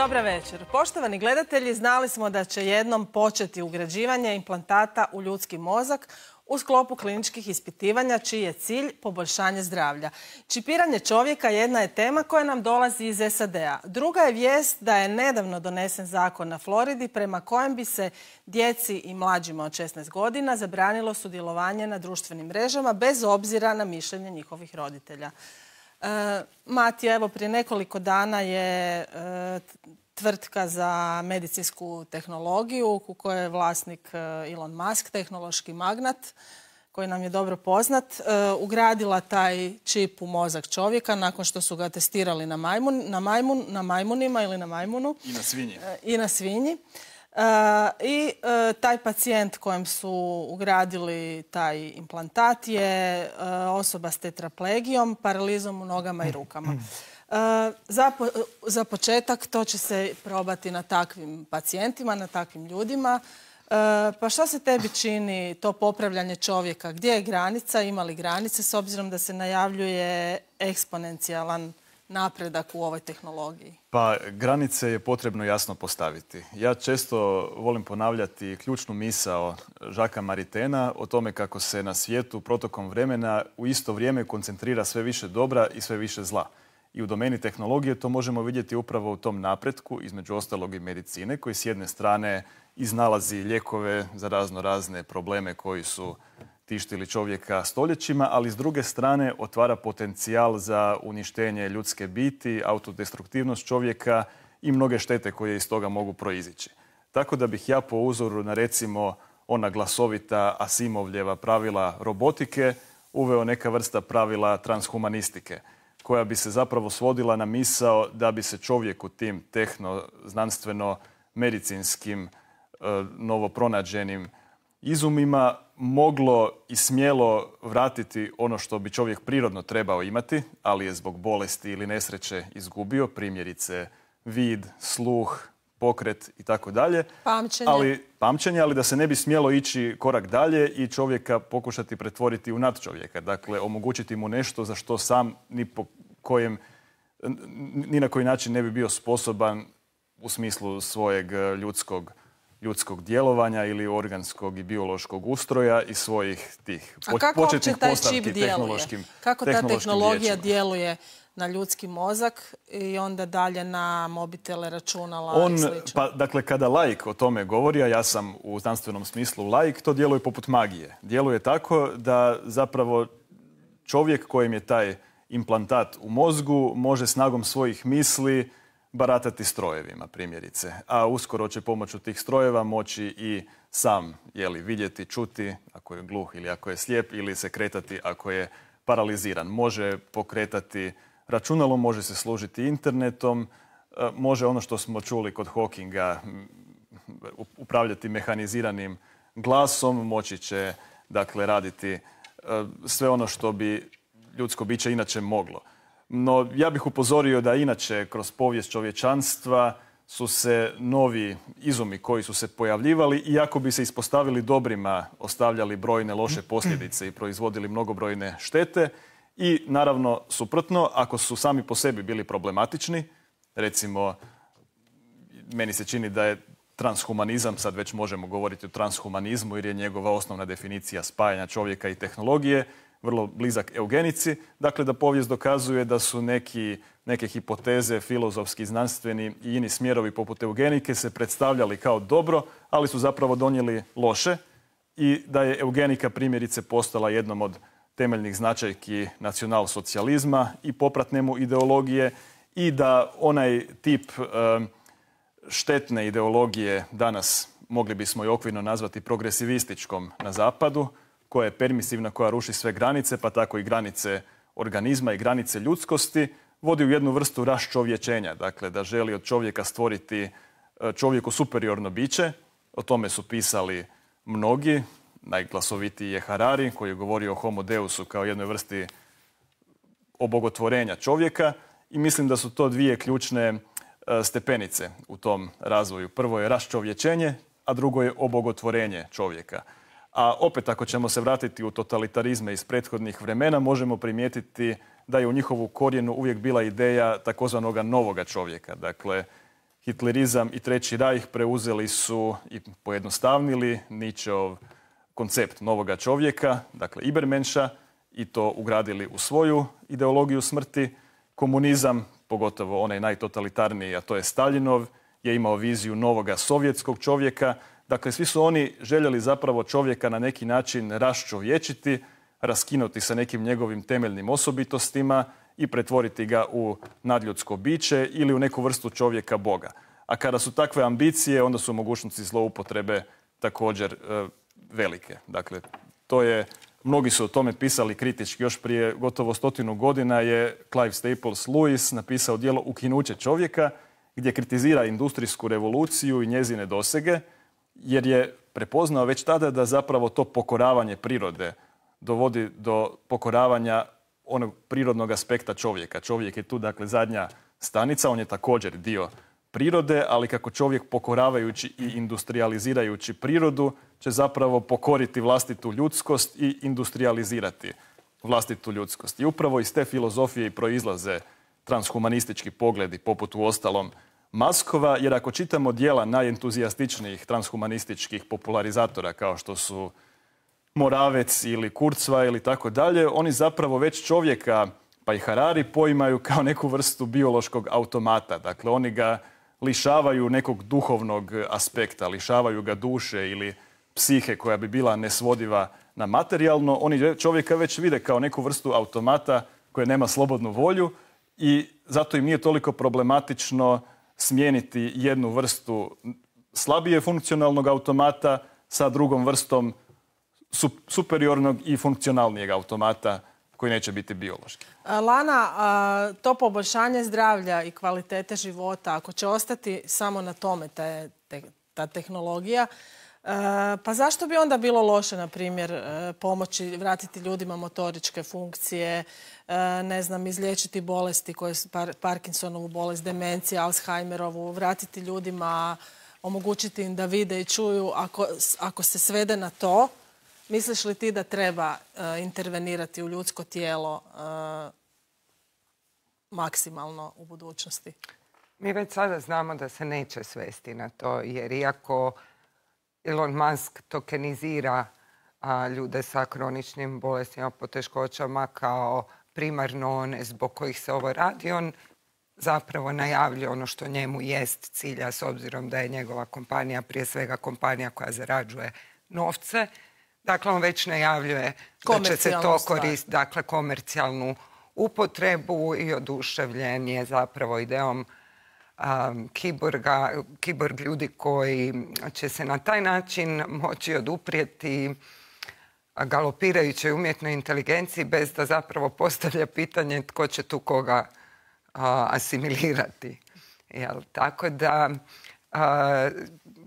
Dobra večer. Poštovani gledatelji, znali smo da će jednom početi ugrađivanje implantata u ljudski mozak u sklopu kliničkih ispitivanja čiji je cilj poboljšanje zdravlja. Čipiranje čovjeka jedna je tema koja nam dolazi iz SAD-a. Druga je vijest da je nedavno donesen zakon na Floridi prema kojem bi se djeci i mlađima od 16 godina zabranilo sudjelovanje na društvenim mrežama bez obzira na mišljenje njihovih roditelja. Matija, evo prije nekoliko dana je tvrtka za medicinsku tehnologiju u kojoj je vlasnik Elon Musk, tehnološki magnat, koji nam je dobro poznat, ugradila taj čip u mozak čovjeka nakon što su ga testirali na majmunima ili na majmunu. I na svinji. I na svinji. I taj pacijent kojem su ugradili taj implantat je osoba s tetraplegijom, paralizom u nogama i rukama. Za početak to će se probati na takvim pacijentima, na takvim ljudima. Pa šta se tebi čini to popravljanje čovjeka? Gdje je granica? Ima li granice s obzirom da se najavljuje eksponencijalan napredak u ovoj tehnologiji? Pa granice je potrebno jasno postaviti. Ja često volim ponavljati ključnu misao Jacquesa Maritaina o tome kako se na svijetu protokom vremena u isto vrijeme koncentrira sve više dobra i sve više zla. I u domeni tehnologije to možemo vidjeti upravo u tom napretku, između ostalog i medicine, koji s jedne strane iznalazi lijekove za razne probleme koji su tištili čovjeka stoljećima, ali s druge strane otvara potencijal za uništenje ljudske biti, autodestruktivnost čovjeka i mnoge štete koje iz toga mogu proizići. Tako da bih ja po uzoru na recimo ona glasovita Asimovljeva pravila robotike uveo neka vrsta pravila transhumanistike, koja bi se zapravo svodila na misao da bi se čovjek u tim tehno-znanstveno-medicinskim novopronađenim izumima moglo i smjelo vratiti ono što bi čovjek prirodno trebao imati, ali je zbog bolesti ili nesreće izgubio, primjerice vid, sluh, pokret i tako dalje. Pamćenje, ali da se ne bi smjelo ići korak dalje i čovjeka pokušati pretvoriti u nadčovjeka. Dakle, omogućiti mu nešto za što sam ni na koji način ne bi bio sposoban u smislu svojeg ljudskog djelovanja ili organskog i biološkog ustroja i svojih tih početnih postavki tehnološkim. Kako ta tehnologija djeluje na ljudski mozak i onda dalje na mobitele, računala i slično? Dakle, kada laik o tome govori, a ja sam u znanstvenom smislu laik, to djeluje poput magije. Djeluje tako da zapravo čovjek kojem je taj implantat u mozgu može snagom svojih misli baratati strojevima, primjerice. A uskoro će pomoću tih strojeva moći i sam vidjeti, čuti ako je gluh ili ako je slijep, ili se kretati ako je paraliziran. Može pokretati računalo, može se služiti internetom, može ono što smo čuli kod Hawkinga upravljati mehaniziranim glasom, moći će dakle raditi sve ono što bi ljudsko biće inače moglo. No, ja bih upozorio da inače kroz povijest čovječanstva su se novi izumi koji su se pojavljivali, iako bi se ispostavili dobrima, ostavljali brojne loše posljedice i proizvodili mnogobrojne štete. I naravno, suprotno, ako su sami po sebi bili problematični, recimo, meni se čini da je transhumanizam, sad već možemo govoriti o transhumanizmu jer je njegova osnovna definicija spajanja čovjeka i tehnologije, vrlo blizak eugenici. Dakle, da povijest dokazuje da su neke hipoteze, filozofski, znanstveni i ini smjerovi poput eugenike se predstavljali kao dobro, ali su zapravo donijeli loše i da je eugenika primjerice postala jednom od temeljnih značajki nacionalsocijalizma i popratne mu ideologije i da onaj tip štetne ideologije danas mogli bismo i okvirno nazvati progresivističkom na zapadu, koja je permisivna, koja ruši sve granice, pa tako i granice organizma i granice ljudskosti, vodi u jednu vrstu raščovječenja. Dakle, da želi od čovjeka stvoriti čovjeku superiorno biće. O tome su pisali mnogi. Najglasovitiji je Harari, koji je govorio o homo deusu kao jednoj vrsti obogotvorenja čovjeka. I mislim da su to dvije ključne stepenice u tom razvoju. Prvo je raščovječenje, a drugo je obogotvorenje čovjeka. A opet, ako ćemo se vratiti u totalitarizme iz prethodnih vremena, možemo primijetiti da je u njihovu korijenu uvijek bila ideja takozvanog novoga čovjeka. Dakle, Hitlerizam i Treći rajh preuzeli su i pojednostavnili Nietzscheov koncept novoga čovjeka, dakle Ibermenša, i to ugradili u svoju ideologiju smrti. Komunizam, pogotovo onaj najtotalitarniji, a to je Staljinov, je imao viziju novoga sovjetskog čovjeka. Dakle, svi su oni željeli zapravo čovjeka na neki način raščovječiti, raskinuti sa nekim njegovim temeljnim osobitostima i pretvoriti ga u nadljudsko biće ili u neku vrstu čovjeka Boga. A kada su takve ambicije, onda su mogućnosti zloupotrebe također velike. Dakle, mnogi su o tome pisali kritički. Još prije gotovo 100 godina je Clive Staples Lewis napisao djelo Ukinuće čovjeka, gdje kritizira industrijsku revoluciju i njezine dosege, jer je prepoznao već tada da zapravo to pokoravanje prirode dovodi do pokoravanja onog prirodnog aspekta čovjeka. Čovjek je tu, dakle, zadnja stanica, on je također dio prirode, ali kako čovjek pokoravajući i industrializirajući prirodu će zapravo pokoriti vlastitu ljudskost i industrializirati vlastitu ljudskost. I upravo iz te filozofije i proizlaze transhumanistički pogledi, poput uostalom Maskova, jer ako čitamo djela najentuzijastičnijih transhumanističkih popularizatora kao što su Moravec ili Kurzweil ili tako dalje, oni zapravo već čovjeka, pa i Harari, poimaju kao neku vrstu biološkog automata. Dakle, oni ga lišavaju nekog duhovnog aspekta, lišavaju ga duše ili psihe koja bi bila nesvodiva na materijalno. Oni čovjeka već vide kao neku vrstu automata koja nema slobodnu volju i zato im nije toliko problematično smijeniti jednu vrstu slabije funkcionalnog automata sa drugom vrstom superiornog i funkcionalnijeg automata koji neće biti biološki. Lana, to poboljšanje zdravlja i kvalitete života, ako će ostati samo na tome ta tehnologija, pa zašto bi onda bilo loše, na primjer, pomoći, vratiti ljudima motoričke funkcije, ne znam, izliječiti bolesti koje su Parkinsonovu bolest, demencija, Alzheimerovu, vratiti ljudima, omogućiti im da vide i čuju. Ako se svede na to, misliš li ti da treba intervenirati u ljudsko tijelo maksimalno u budućnosti? Mi već sada znamo da se neće svesti na to, jer iako Elon Musk tokenizira ljude sa kroničnim bolestima, poteškoćama kao primarno one zbog kojih se ovo radi, on zapravo najavljuje ono što njemu jest cilja, s obzirom da je njegova kompanija prije svega kompanija koja zarađuje novce. Dakle, on već najavljuje da će se to koristiti, dakle, komercijalnu upotrebu i oduševljen je zapravo ideom kiborg ljudi koji će se na taj način moći oduprijeti galopirajućoj umjetnoj inteligenciji bez da zapravo postavlja pitanje tko će tu koga asimilirati. Tako da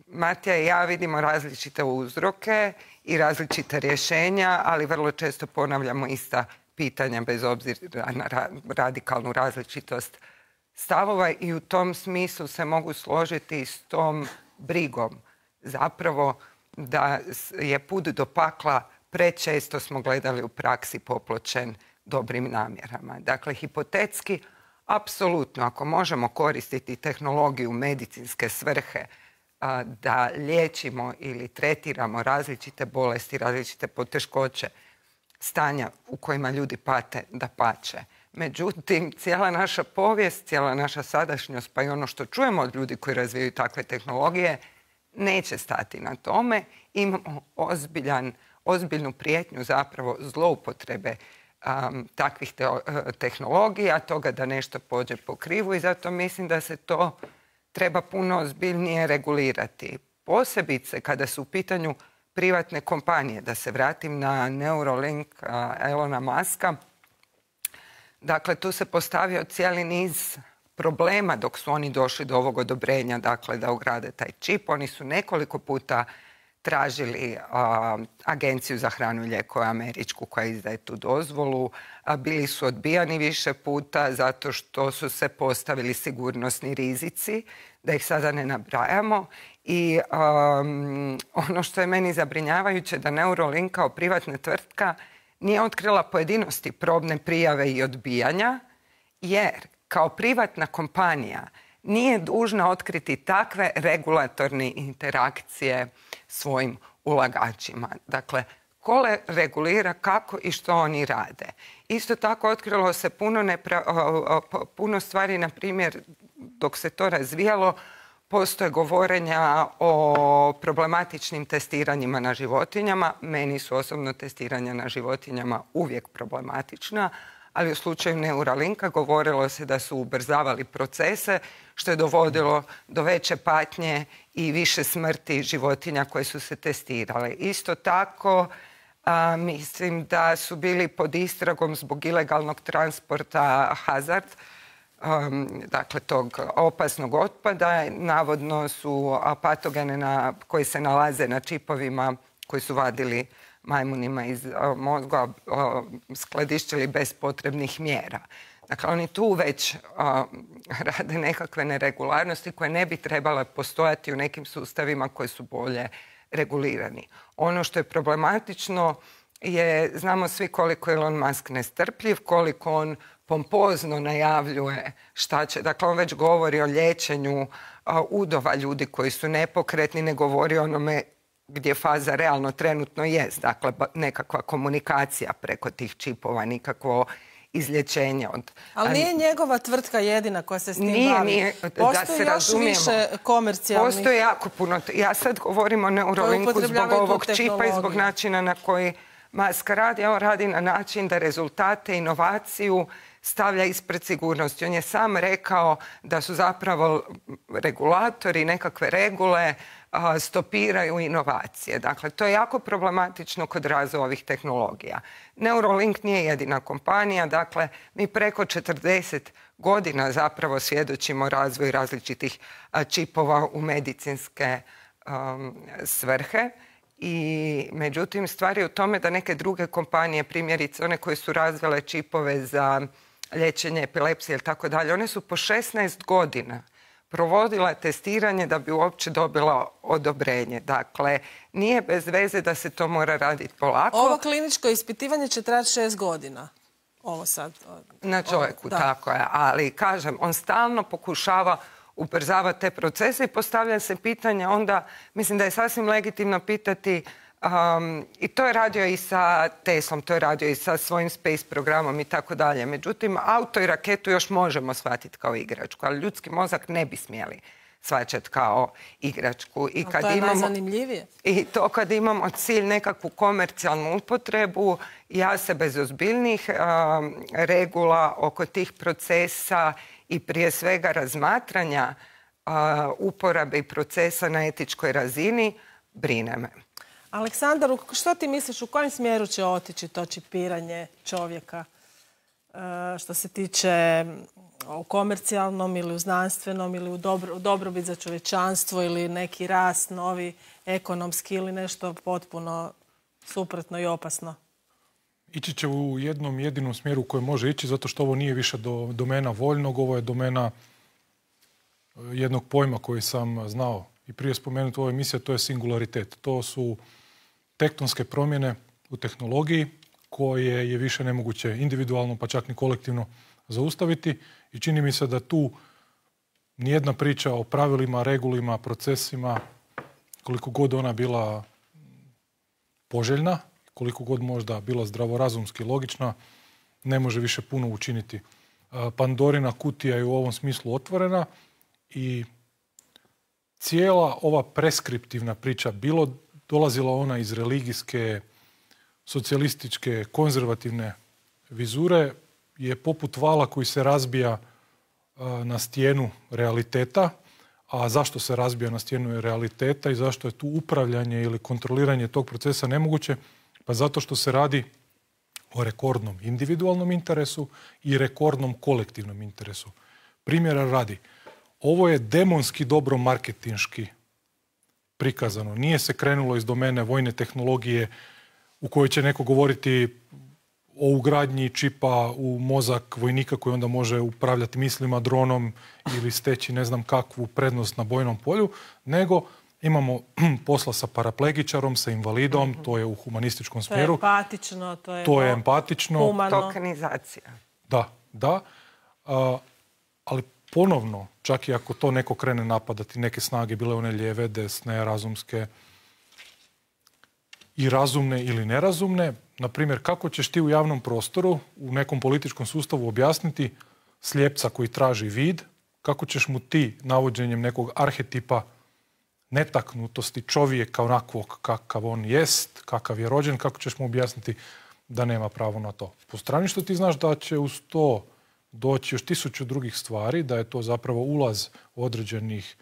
Matija i ja vidimo različite uzroke i različite rješenja, ali vrlo često ponavljamo ista pitanja bez obzira na radikalnu različitost stavova i u tom smislu se mogu složiti s tom brigom. Zapravo da je put do pakla prečesto smo gledali u praksi popločen dobrim namjerama. Dakle, hipotetski, apsolutno, ako možemo koristiti tehnologiju u medicinske svrhe da liječimo ili tretiramo različite bolesti, različite poteškoće, stanja u kojima ljudi pate, da pače. Međutim, cijela naša povijest, cijela naša sadašnjost, pa i ono što čujemo od ljudi koji razvijaju takve tehnologije, neće stati na tome. Imamo ozbiljnu prijetnju zapravo zloupotrebe takvih tehnologija, toga da nešto pođe po krivu i zato mislim da se to treba puno ozbiljnije regulirati. Posebice kada su u pitanju privatne kompanije, da se vratim na Neuralink Elona Muska. Dakle, tu se postavio cijeli niz problema dok su oni došli do ovog odobrenja, dakle, da ugrade taj čip. Oni su nekoliko puta tražili Agenciju za hranu i lijekove američku koja izdaje tu dozvolu. Bili su odbijani više puta zato što su se postavili sigurnosni rizici, da ih sada ne nabrajamo. I ono što je meni zabrinjavajuće da Neuralink kao privatna tvrtka nije otkrila pojedinosti probne prijave i odbijanja, jer kao privatna kompanija nije dužna otkriti takve regulatorne interakcije svojim ulagačima. Dakle, ko regulira kako i što oni rade. Isto tako otkrilo se puno stvari, na primjer, dok se to razvijalo, postoje govorenja o problematičnim testiranjima na životinjama. Meni su osobno testiranja na životinjama uvijek problematična, ali u slučaju Neuralinka govorilo se da su ubrzavali procese, što je dovodilo do veće patnje i više smrti životinja koje su se testirale. Isto tako, mislim da su bili pod istragom zbog ilegalnog transporta hazard, dakle tog opasnog otpada. Navodno su patogene koji se nalaze na čipovima koji su vadili majmunima iz mozga skladištili bez potrebnih mjera. Dakle, oni tu već rade nekakve neregularnosti koje ne bi trebale postojati u nekim sustavima koji su bolje regulirani. Ono što je problematično je, znamo svi koliko je Elon Musk nestrpljiv, koliko on pompozno najavljuje šta će. Dakle, on već govori o liječenju udova ljudi koji su nepokretni, ne govori o onome gdje faza realno trenutno jest. Dakle, nekakva komunikacija preko tih čipova, nikakvo izlječenje od... Ali nije njegova tvrtka jedina koja se s tim bavi. Nije, postoji još više komercijalnih... Postoji jako puno. Ja sad govorim o Neuralinku zbog ovog čipa i zbog načina na koji Musk radi. On radi na način da rezultate, inovaciju stavlja ispred sigurnosti. On je sam rekao da su zapravo regulatori, nekakve regule stopiraju inovacije. Dakle, to je jako problematično kod razvoja ovih tehnologija. Neuralink nije jedina kompanija. Dakle, mi preko 40 godina zapravo svjedočimo razvoju različitih čipova u medicinske svrhe. I međutim, stvar je u tome da neke druge kompanije, primjerice one koje su razvile čipove za liječenje epilepsije ili tako dalje, one su po 16 godina provodila testiranje da bi uopće dobila odobrenje. Dakle, nije bez veze da se to mora raditi polako. Ovo kliničko ispitivanje će trajati 6 godina. Ovo sad. Na čovjeku, tako je. Ali, kažem, on stalno pokušava ubrzavati te procese i postavlja se pitanje onda, mislim da je sasvim legitimno pitati, i to je radio i sa Teslom, to je radio i sa svojim space programom i tako dalje. Međutim, auto i raketu još možemo shvatiti kao igračku, ali ljudski mozak ne bi smjeli shvaćati kao igračku. I kad to je najzanimljivije. I to kad imamo cilj nekakvu komercijalnu upotrebu, ja se bez ozbiljnih regula oko tih procesa i prije svega razmatranja uporabe i procesa na etičkoj razini brine me. Aleksandar, što ti misliš, u kojem smjeru će otići to čipiranje čovjeka što se tiče u komercijalnom ili u znanstvenom ili u dobrobit za čovječanstvo ili neki rast novi ekonomski ili nešto potpuno suprotno i opasno? Ići će u jednom jedinom smjeru u kojem može ići, zato što ovo nije više domena voljnog, ovo je domena jednog pojma koji sam znao i prije spomenuti u ovoj emisiji, to je singularitet. To su tektonske promjene u tehnologiji koje je više nemoguće individualno, pa čak ni kolektivno zaustaviti. I čini mi se da tu nijedna priča o pravilima, regulima, procesima, koliko god ona bila poželjna, koliko god možda bila zdravorazumski logična, ne može više puno učiniti. Pandorina kutija je u ovom smislu otvorena i cijela ova preskriptivna priča, bilo dolazila ona iz religijske, socijalističke, konzervativne vizure, je poput vala koji se razbija na stijenu realiteta. A zašto se razbija na stijenu realiteta i zašto je tu upravljanje ili kontroliranje tog procesa nemoguće? Pa zato što se radi o rekordnom individualnom interesu i rekordnom kolektivnom interesu. Primjera radi, ovo je demonski dobro marketinški prikazano. Nije se krenulo iz domene vojne tehnologije u kojoj će neko govoriti o ugradnji čipa u mozak vojnika koji onda može upravljati mislima, dronom ili steći ne znam kakvu prednost na bojnom polju, nego imamo posla sa paraplegičarom, sa invalidom, to je u humanističkom smjeru. To je empatično, to je humano. Tokenizacija. Da. Ali ponovno, čak i ako to neko krene napadati, neke snage, bile one lijeve, desne, razumske, i razumne ili nerazumne, na primjer, kako ćeš ti u javnom prostoru, u nekom političkom sustavu objasniti slijepca koji traži vid, kako ćeš mu ti navođenjem nekog arhetipa netaknutosti čovjeka onakvog kakav on jest, kakav je rođen, kako ćeš mu objasniti da nema pravo na to. Po strani što ti znaš da će uz to doći još 1000 drugih stvari, da je to zapravo ulaz određenih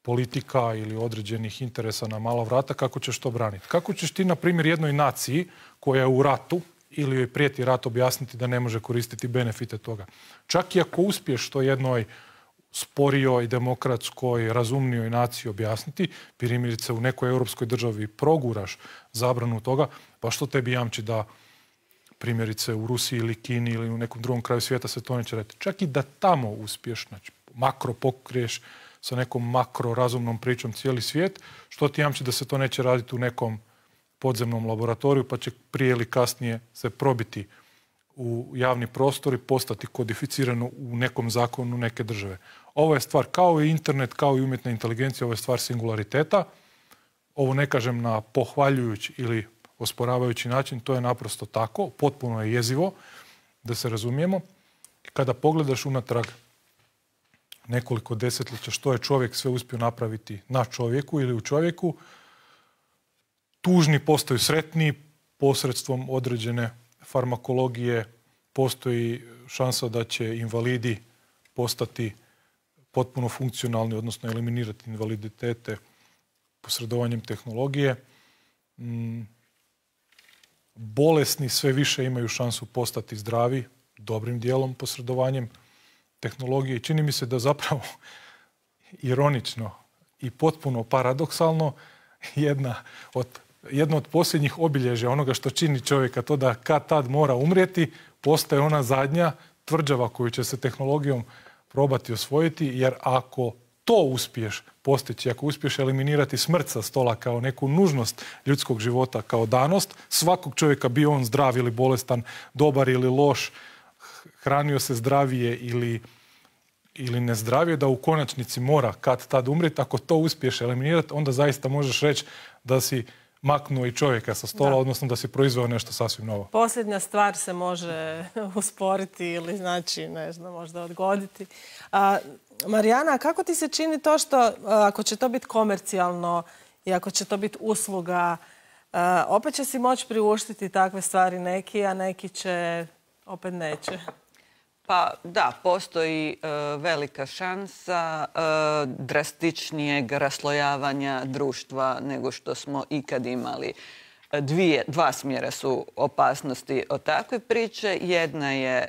politika ili određenih interesa na mala vrata, kako ćeš to braniti? Kako ćeš ti, na primjer, jednoj naciji koja je u ratu ili joj prijeti rat objasniti da ne može koristiti benefite toga? Čak i ako uspiješ to jednoj sporijoj, demokratskoj, razumnijoj naciji objasniti, primjerice u nekoj europskoj državi proguraš zabranu toga, pa što tebi jamči da primjerice u Rusiji ili Kini ili u nekom drugom kraju svijeta se to neće raditi? Čak i da tamo uspiješ, znači makro pokriješ sa nekom makro razumnom pričom cijeli svijet, što ti jamči da se to neće raditi u nekom podzemnom laboratoriju, pa će prije ili kasnije se probiti u javni prostor i postati kodificirano u nekom zakonu neke države. Ovo je stvar, kao i internet, kao i umjetna inteligencija, ovo je stvar singulariteta. Ovo ne kažem na pohvaljujući ili osporavajući način, to je naprosto tako, potpuno je jezivo, da se razumijemo. Kada pogledaš unatrag nekoliko desetljeća što je čovjek sve uspio napraviti na čovjeku ili u čovjeku, tužni postaju sretni posredstvom određene farmakologije, postoji šansa da će invalidi postati potpuno funkcionalni, odnosno eliminirati invaliditete posredovanjem tehnologije. Bolesni sve više imaju šansu postati zdravi, dobrim dijelom posredovanjem tehnologije. I čini mi se da zapravo ironično i potpuno paradoksalno jedno od posljednjih obilježja onoga što čini čovjeka, to da kad tad mora umrijeti, postaje ona zadnja tvrđava koju će se tehnologijom probati osvojiti, jer ako to uspiješ postići, ako uspiješ eliminirati smrt sa stola kao neku nužnost ljudskog života, kao danost, svakog čovjeka, bio on zdrav ili bolestan, dobar ili loš, hranio se zdravije ili nezdravije, da u konačnici mora kad tad umrijeti, ako to uspiješ eliminirati, onda zaista možeš reći da si maknuo i čovjeka sa stola, odnosno da si proizveo nešto sasvim novo. Posljednja stvar se može usporiti ili znači, ne znam, možda odgoditi. Marijana, kako ti se čini to što ako će to biti komercijalno i ako će to biti usluga, opet će si moći priuštiti takve stvari neki, a neki će opet neće? Pa da, postoji velika šansa drastičnijeg raslojavanja društva nego što smo ikad imali. Dva smjera su opasnosti od takve priče. Jedna je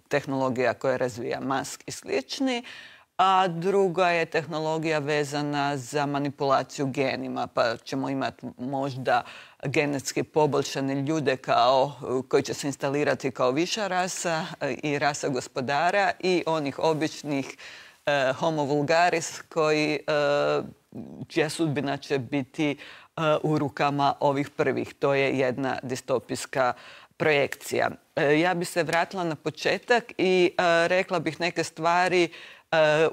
tehnologija koja razvija Musk i slični, a druga je tehnologija vezana za manipulaciju genima, pa ćemo imati možda genetski poboljšane ljude koji će se instalirati kao viša rasa i rasa gospodara i onih običnih homo vulgaris čija sudbina će biti u rukama ovih prvih. To je jedna distopijska projekcija. Ja bi se vratila na početak i rekla bih neke stvari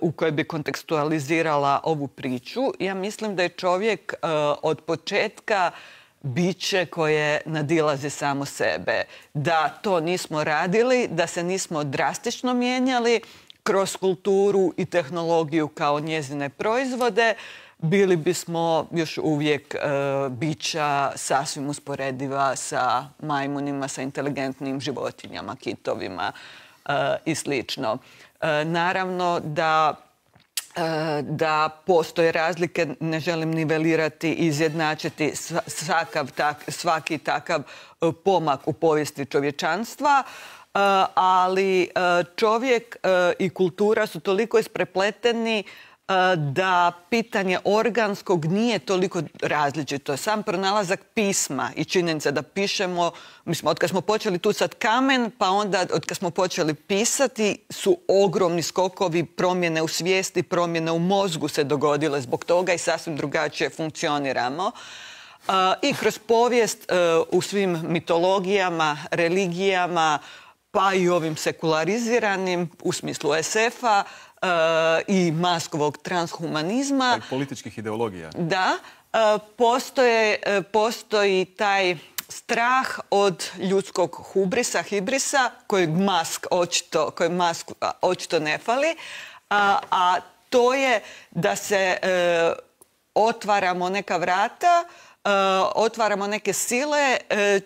u kojoj bi kontekstualizirala ovu priču. Ja mislim da je čovjek od početka biće koje nadilazi samo sebe. Da to nismo radili, da se nismo drastično mijenjali kroz kulturu i tehnologiju kao njezine proizvode, bili bismo još uvijek bića sasvim usporediva sa majmunima, sa inteligentnim životinjama, kitovima i slično. Naravno da postoje razlike, ne želim nivelirati i izjednačiti svaki takav pomak u povijesti čovječanstva, ali čovjek i kultura su toliko isprepleteni da pitanje organskog nije toliko različito. Sam pronalazak pisma i činjenica da pišemo, mislim, od kad smo počeli tucat kamen, pa onda od kad smo počeli pisati, su ogromni skokovi, promjene u svijesti, promjene u mozgu se dogodile zbog toga i sasvim drugačije funkcioniramo. I kroz povijest u svim mitologijama, religijama, pa i ovim sekulariziranim, u smislu SF-a, i maskovog transhumanizma. I političkih ideologija. Da, postoji taj strah od ljudskog hibrisa, kojeg Musk očito ne fali, a to je da se otvaramo neka vrata, otvaramo neke sile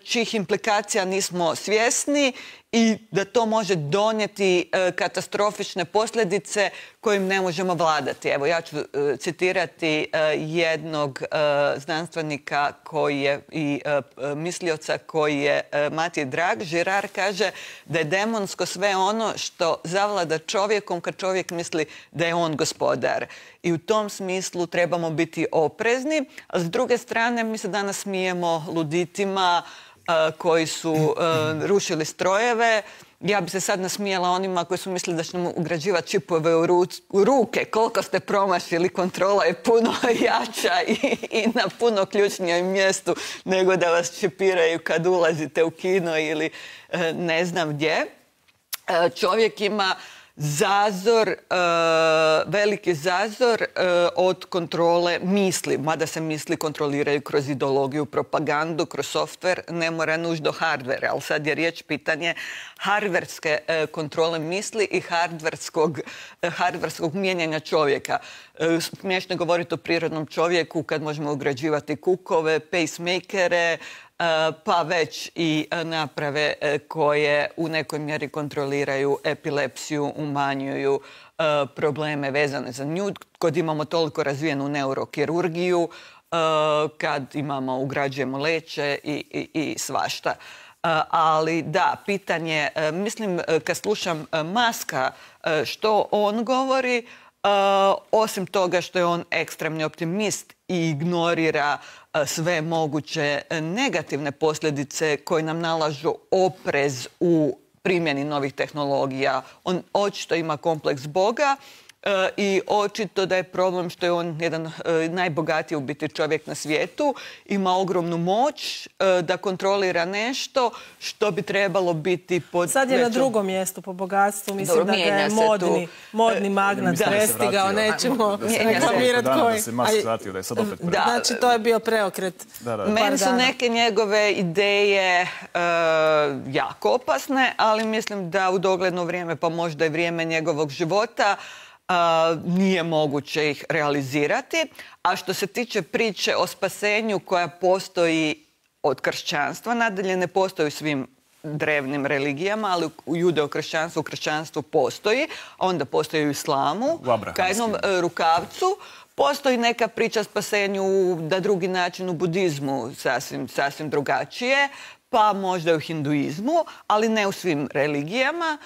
čijih implikacija nismo svjesni i da to može donijeti katastrofične posljedice kojim ne možemo vladati. Evo, ja ću citirati jednog znanstvenika koji je i mislioca koji je Matije Drag. Girard kaže da je demonsko sve ono što zavlada čovjekom kad čovjek misli da je on gospodar. I u tom smislu trebamo biti oprezni. A s druge strane, mi se danas smijemo luditima koji su rušili strojeve. Ja bi se sad nasmijala onima koji su mislili da ćemo ugrađivati čipove u ruke. Koliko ste promašili, kontrola je puno jača i na puno ključnijem mjestu nego da vas čipiraju kad ulazite u kino ili ne znam gdje. Čovjek ima veliki zazor od kontrole misli, mada se misli kontroliraju kroz ideologiju, propagandu, kroz softver, ne mora nužno hardware, ali sad je riječ pitanje hardverske kontrole misli i hardverskog mijenjanja čovjeka. Smiješno je govoriti o prirodnom čovjeku kad možemo ugrađivati kukove, pacemakere, pa već i naprave koje u nekoj mjeri kontroliraju epilepsiju, umanjuju probleme vezane za nju. Kad imamo toliko razvijenu neurokirurgiju, kad ugrađujemo leće i svašta. Ali da, pitanje, mislim, kad slušam Muska što on govori, osim toga što je on ekstremni optimist i ignorira sve moguće negativne posljedice koje nam nalažu oprez u primjeni novih tehnologija. On očito ima kompleks Boga i očito da je problem što je on jedan najbogatiji u biti čovjek na svijetu, ima ogromnu moć da kontrolira nešto što bi trebalo biti pod... Sad je na drugom mjestu po bogatstvu, mislim da ga je modni magnat prestigao, nećemo reklamirati koji. Da se Musk vratio, da je sad opet preokret. Znači, to je bio preokret. Meni su neke njegove ideje jako opasne, ali mislim da u dogledno vrijeme, pa možda i vrijeme njegovog života, nije moguće ih realizirati. A što se tiče priče o spasenju koja postoji od kršćanstva, nadalje ne postoji u svim drevnim religijama, ali u judeo-kršćanstvu, u kršćanstvu postoji, a onda postoji u islamu, ka jednom rukavcu. Postoji neka priča o spasenju na drugi način u budizmu, sasvim drugačije, pa možda i u hinduizmu, ali ne u svim religijama.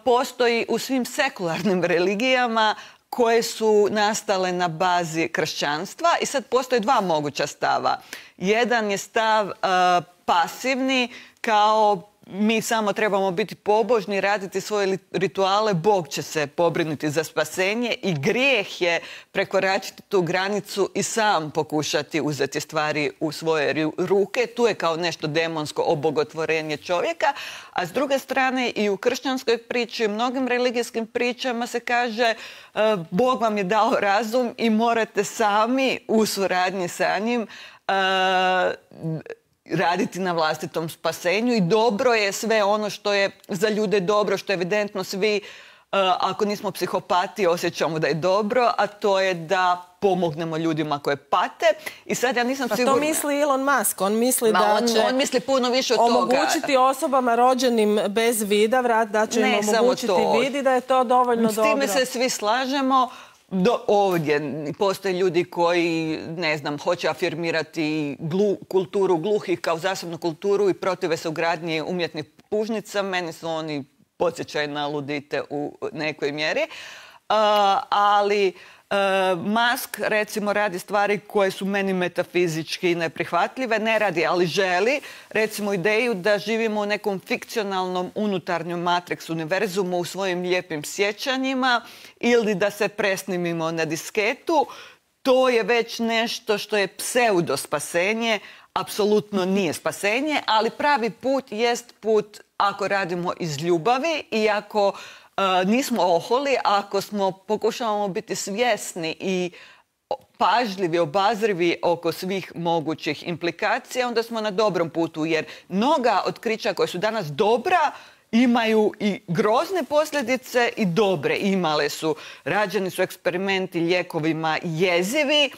Postoji u svim sekularnim religijama koje su nastale na bazi kršćanstva i sad postoje dva moguća stava. Jedan je stav pasivni, kao mi samo trebamo biti pobožni, raditi svoje rituale, Bog će se pobrinuti za spasenje i grijeh je prekoračiti tu granicu i sam pokušati uzeti stvari u svoje ruke. Tu je kao nešto demonsko obogotvorenje čovjeka, a s druge strane i u kršćanskoj priči i mnogim religijskim pričama se kaže Bog vam je dao razum i morate sami u suradnji sa njim raditi na vlastitom spasenju i dobro je sve ono što je za ljude dobro, što je evidentno svi, ako nismo psihopati, osjećamo da je dobro, a to je da pomognemo ljudima koje pate. I sad ja nisam sigurna... Pa to misli Elon Musk. On misli da će on misli puno više od toga. Omogućiti osobama rođenim bez vida, da će im omogućiti vid i da je to dovoljno dobro. S time se svi slažemo. Ovdje postoje ljudi koji, ne znam, hoće afirmirati kulturu gluhih kao zasebnu kulturu i protive se ugradnji umjetnih pužnica. Meni su oni podsjećaj na ludite u nekoj mjeri. Ali Musk, recimo, radi stvari koje su meni metafizički neprihvatljive. Ne radi, ali želi. Recimo, ideju da živimo u nekom fikcionalnom unutarnjem matrix univerzumu u svojim lijepim sjećanjima ili da se presnimimo na disketu. To je već nešto što je pseudo spasenje. Apsolutno nije spasenje, ali pravi put jest put ako radimo iz ljubavi i ako nismo oholi, ako pokušavamo biti svjesni i pažljivi, obazrivi oko svih mogućih implikacija, onda smo na dobrom putu, jer mnoga otkrića koja su danas dobra imaju i grozne posljedice i dobre. Imale su, rađeni su eksperimenti lijekovima jezivi,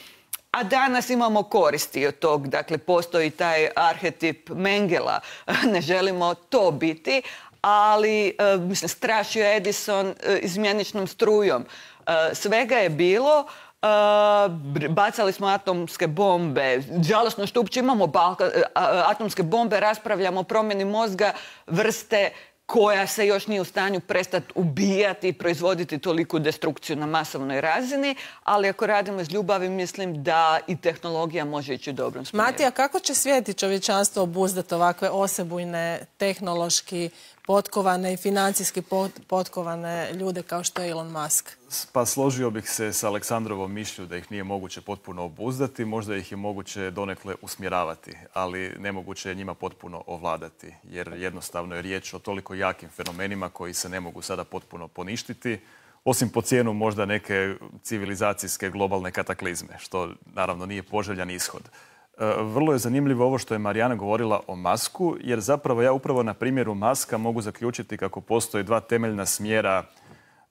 a danas imamo koristi od tog. Dakle, postoji taj arhetip Mengela. Ne želimo to biti, ali strašio Edison izmjeničnom strujom. Svega je bilo. Bacali smo atomske bombe. Žalosno što uopće imamo atomske bombe, raspravljamo o promjeni mozga vrste koja se još nije u stanju prestati ubijati i proizvoditi toliku destrukciju na masovnoj razini, ali ako radimo iz ljubavi, mislim da i tehnologija može ići u dobrom smjeru. Matija, kako će svijet i čovječanstvo obuzdati ovakve osebujne, tehnološki potkovane i financijski potkovane ljude kao što je Elon Musk? Pa složio bih se s Aleksandrovom mišlju da ih nije moguće potpuno obuzdati, možda ih je moguće donekle usmjeravati, ali nemoguće je njima potpuno ovladati, jer jednostavno je riječ o toliko jakim fenomenima koji se ne mogu sada potpuno poništiti, osim po cijenu možda neke civilizacijske globalne kataklizme, što naravno nije poželjan ishod. Vrlo je zanimljivo ovo što je Marijana govorila o Musku, jer zapravo ja upravo na primjeru Muska mogu zaključiti kako postoje dva temeljna smjera,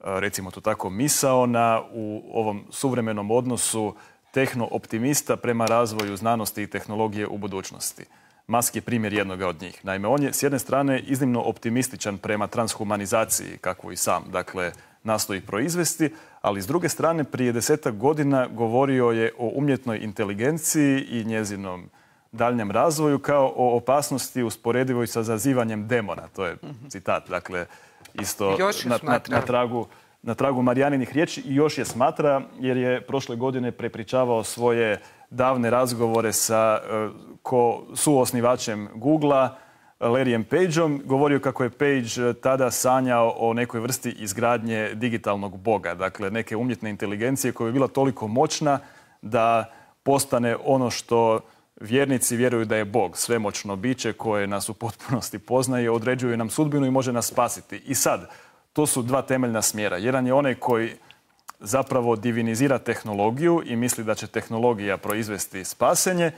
recimo to tako, misaona u ovom suvremenom odnosu tehno-optimista prema razvoju znanosti i tehnologije u budućnosti. Musk je primjer jednoga od njih. Naime, on je s jedne strane iznimno optimističan prema transhumanizaciji, kakvu i sam, dakle, nastoji proizvesti, ali s druge strane prije 10-ak godina govorio je o umjetnoj inteligenciji i njezinom daljnjem razvoju kao o opasnosti usporedivoj sa zazivanjem demona. To je citat, dakle, isto na tragu Marijaninih riječi i još je smatra jer je prošle godine prepričavao svoje davne razgovore sa suosnivačem Googlea, Larryem Pageom, govorio kako je Page tada sanjao o nekoj vrsti izgradnje digitalnog boga, dakle neke umjetne inteligencije koja je bila toliko moćna da postane ono što vjernici vjeruju da je Bog, svemoćno biće koje nas u potpunosti poznaje, određuje nam sudbinu i može nas spasiti. I sad, to su dva temeljna smjera. Jedan je onaj koji zapravo divinizira tehnologiju i misli da će tehnologija proizvesti spasenje,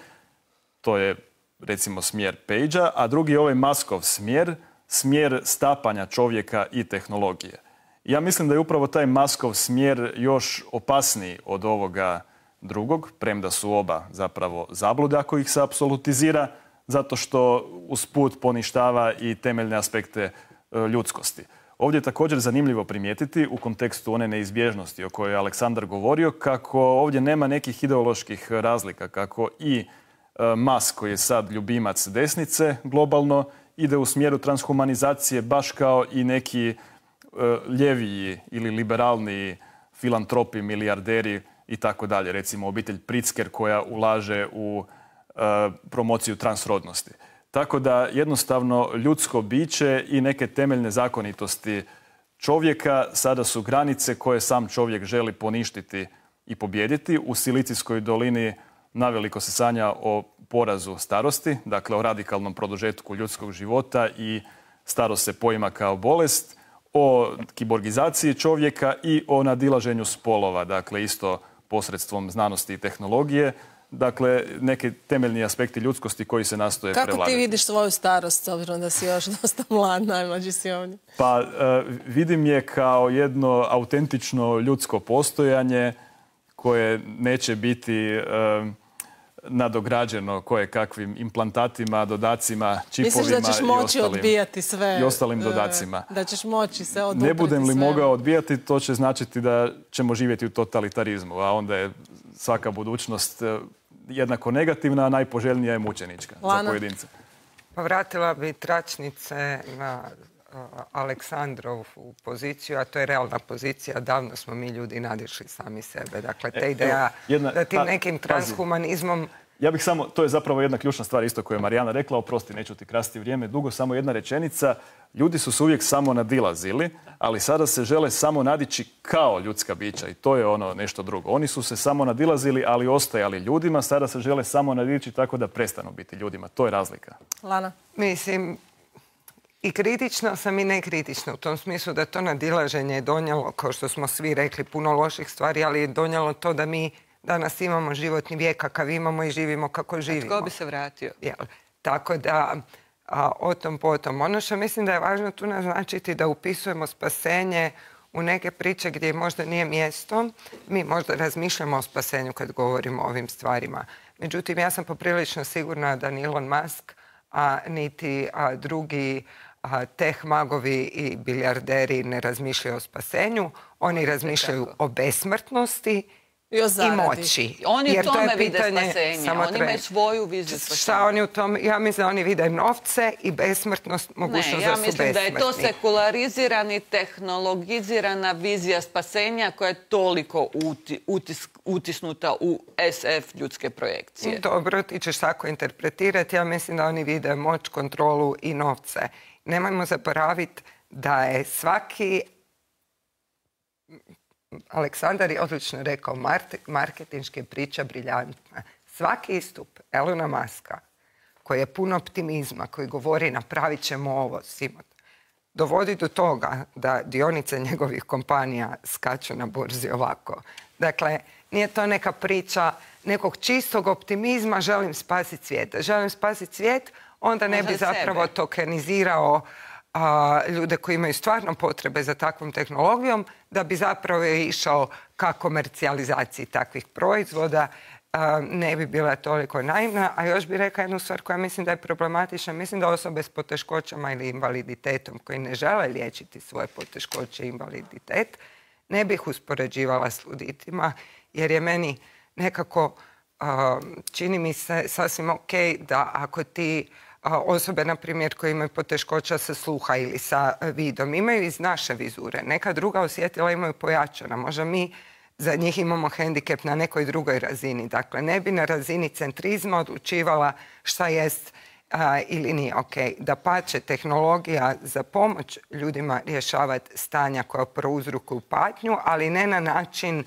to je recimo smjer Pagea, a drugi je ovaj Muskov smjer stapanja čovjeka i tehnologije. Ja mislim da je upravo taj Muskov smjer još opasniji od ovoga drugog, premda su oba zapravo zablude ako ih se apsolutizira, zato što usput poništava i temeljne aspekte ljudskosti. Ovdje je također zanimljivo primijetiti u kontekstu one neizbježnosti o kojoj je Aleksandar govorio, kako ovdje nema nekih ideoloških razlika, kako i Musk, koji je sad ljubimac desnice globalno, ide u smjeru transhumanizacije baš kao i neki ljeviji ili liberalniji filantropi, milijarderi i tako dalje. Recimo obitelj Pritzker koja ulaže u promociju transrodnosti. Tako da jednostavno ljudsko biće i neke temeljne zakonitosti čovjeka sada su granice koje sam čovjek želi poništiti i pobijediti. U Silicijskoj dolini naveliko se sanja o porazu starosti, dakle o radikalnom produžetku ljudskog života i starost se poima kao bolest, o kiborgizaciji čovjeka i o nadilaženju spolova, dakle isto posredstvom znanosti i tehnologije. Dakle, neke temeljni aspekti ljudskosti koji se nastoje prevladati. Kako ti vidiš svoju starost, s obzirom da si još dosta mlad, najmlađi si ovdje? Pa vidim je kao jedno autentično ljudsko postojanje koje neće biti nadograđeno kakvim implantatima, dodacima, čipovima. Misliš da ćeš moći odbijati sve? I ostalim dodacima. Da ćeš moći se odupriti sve? Ne budem li mogao odbijati, to će značiti da ćemo živjeti u totalitarizmu, a onda je svaka budućnost jednako negativna, a najpoželjnija je mučenička za pojedince. Pa vratila bi tračnice na Aleksandrovu poziciju, a to je realna pozicija. Davno smo mi ljudi nadišli sami sebe. Dakle, ta ideja da tim nekim transhumanizmom... Ja bih samo, to je zapravo jedna ključna stvar isto koju je Marijana rekla, oprosti, neću ti krasti vrijeme dugo, samo jedna rečenica. Ljudi su se uvijek samo nadilazili, ali sada se žele samo nadići kao ljudska bića i to je ono nešto drugo. Oni su se samo nadilazili, ali ostajali ljudima, sada se žele samo nadići tako da prestanu biti ljudima. To je razlika. Lana? Mislim, I kritična sam i nekritična u tom smislu da to nadilaženje je donijelo, kao što smo svi rekli, puno loših stvari, ali je donijelo to da mi danas imamo životni vijek kakav imamo i živimo kako živimo. A tko bi se vratio? Tako da, o tom potom. Ono što mislim da je važno tu naznačiti da upisujemo spasenje u neke priče gdje možda nije mjesto. Mi možda razmišljamo o spasenju kad govorimo o ovim stvarima. Međutim, ja sam poprilično sigurna da ni Elon Musk, niti drugi teh magovi i bilijarderi ne razmišljaju o spasenju. Oni razmišljaju o besmrtnosti i moći. Oni u tome vide spasenje. Oni imaju svoju viziju spasenja. Šta oni u tome? Ja mislim da oni vide novce i besmrtnost, mogućnost da su besmrtni. Ja mislim da je to sekularizirani, tehnologizirana vizija spasenja koja je toliko utisnuta u SF ljudske projekcije. Dobro, ti ćeš tako interpretirati. Ja mislim da oni vide moć, kontrolu i novce. Nemojmo zaboraviti da je svaki... Aleksandar je odlično rekao, marketinška priča briljantna. Svaki istup Elona Muska, koji je pun optimizma, koji govori napravit ćemo ovo, dovodi do toga da dionice njegovih kompanija skaču na burzi ovako. Dakle, nije to neka priča nekog čistog optimizma, želim spasiti svijet. Želim spasiti svijet, onda ne bi zapravo tokenizirao ljude koji imaju stvarno potrebe za takvom tehnologijom, da bi zapravo išao ka komercijalizaciji takvih proizvoda, ne bi bila toliko naivna. A još bih rekla jednu stvar koja mislim da je problematična. Mislim da osobe s poteškoćama ili invaliditetom koji ne žele liječiti svoje poteškoće i invaliditet, ne bih uspoređivala s luditima, jer je meni nekako, čini mi se sasvim ok da ako ti osobe, na primjer, koje imaju poteškoća sa sluha ili sa vidom, imaju iz naše vizure. Neka druga osjetila imaju pojačana. Možda mi za njih imamo hendikep na nekoj drugoj razini. Dakle, ne bi na razini centrizma odlučivala šta jest ili nije ok. Dapače, tehnologija za pomoć ljudima rješavati stanja koja prouzrokuju patnju, ali ne na način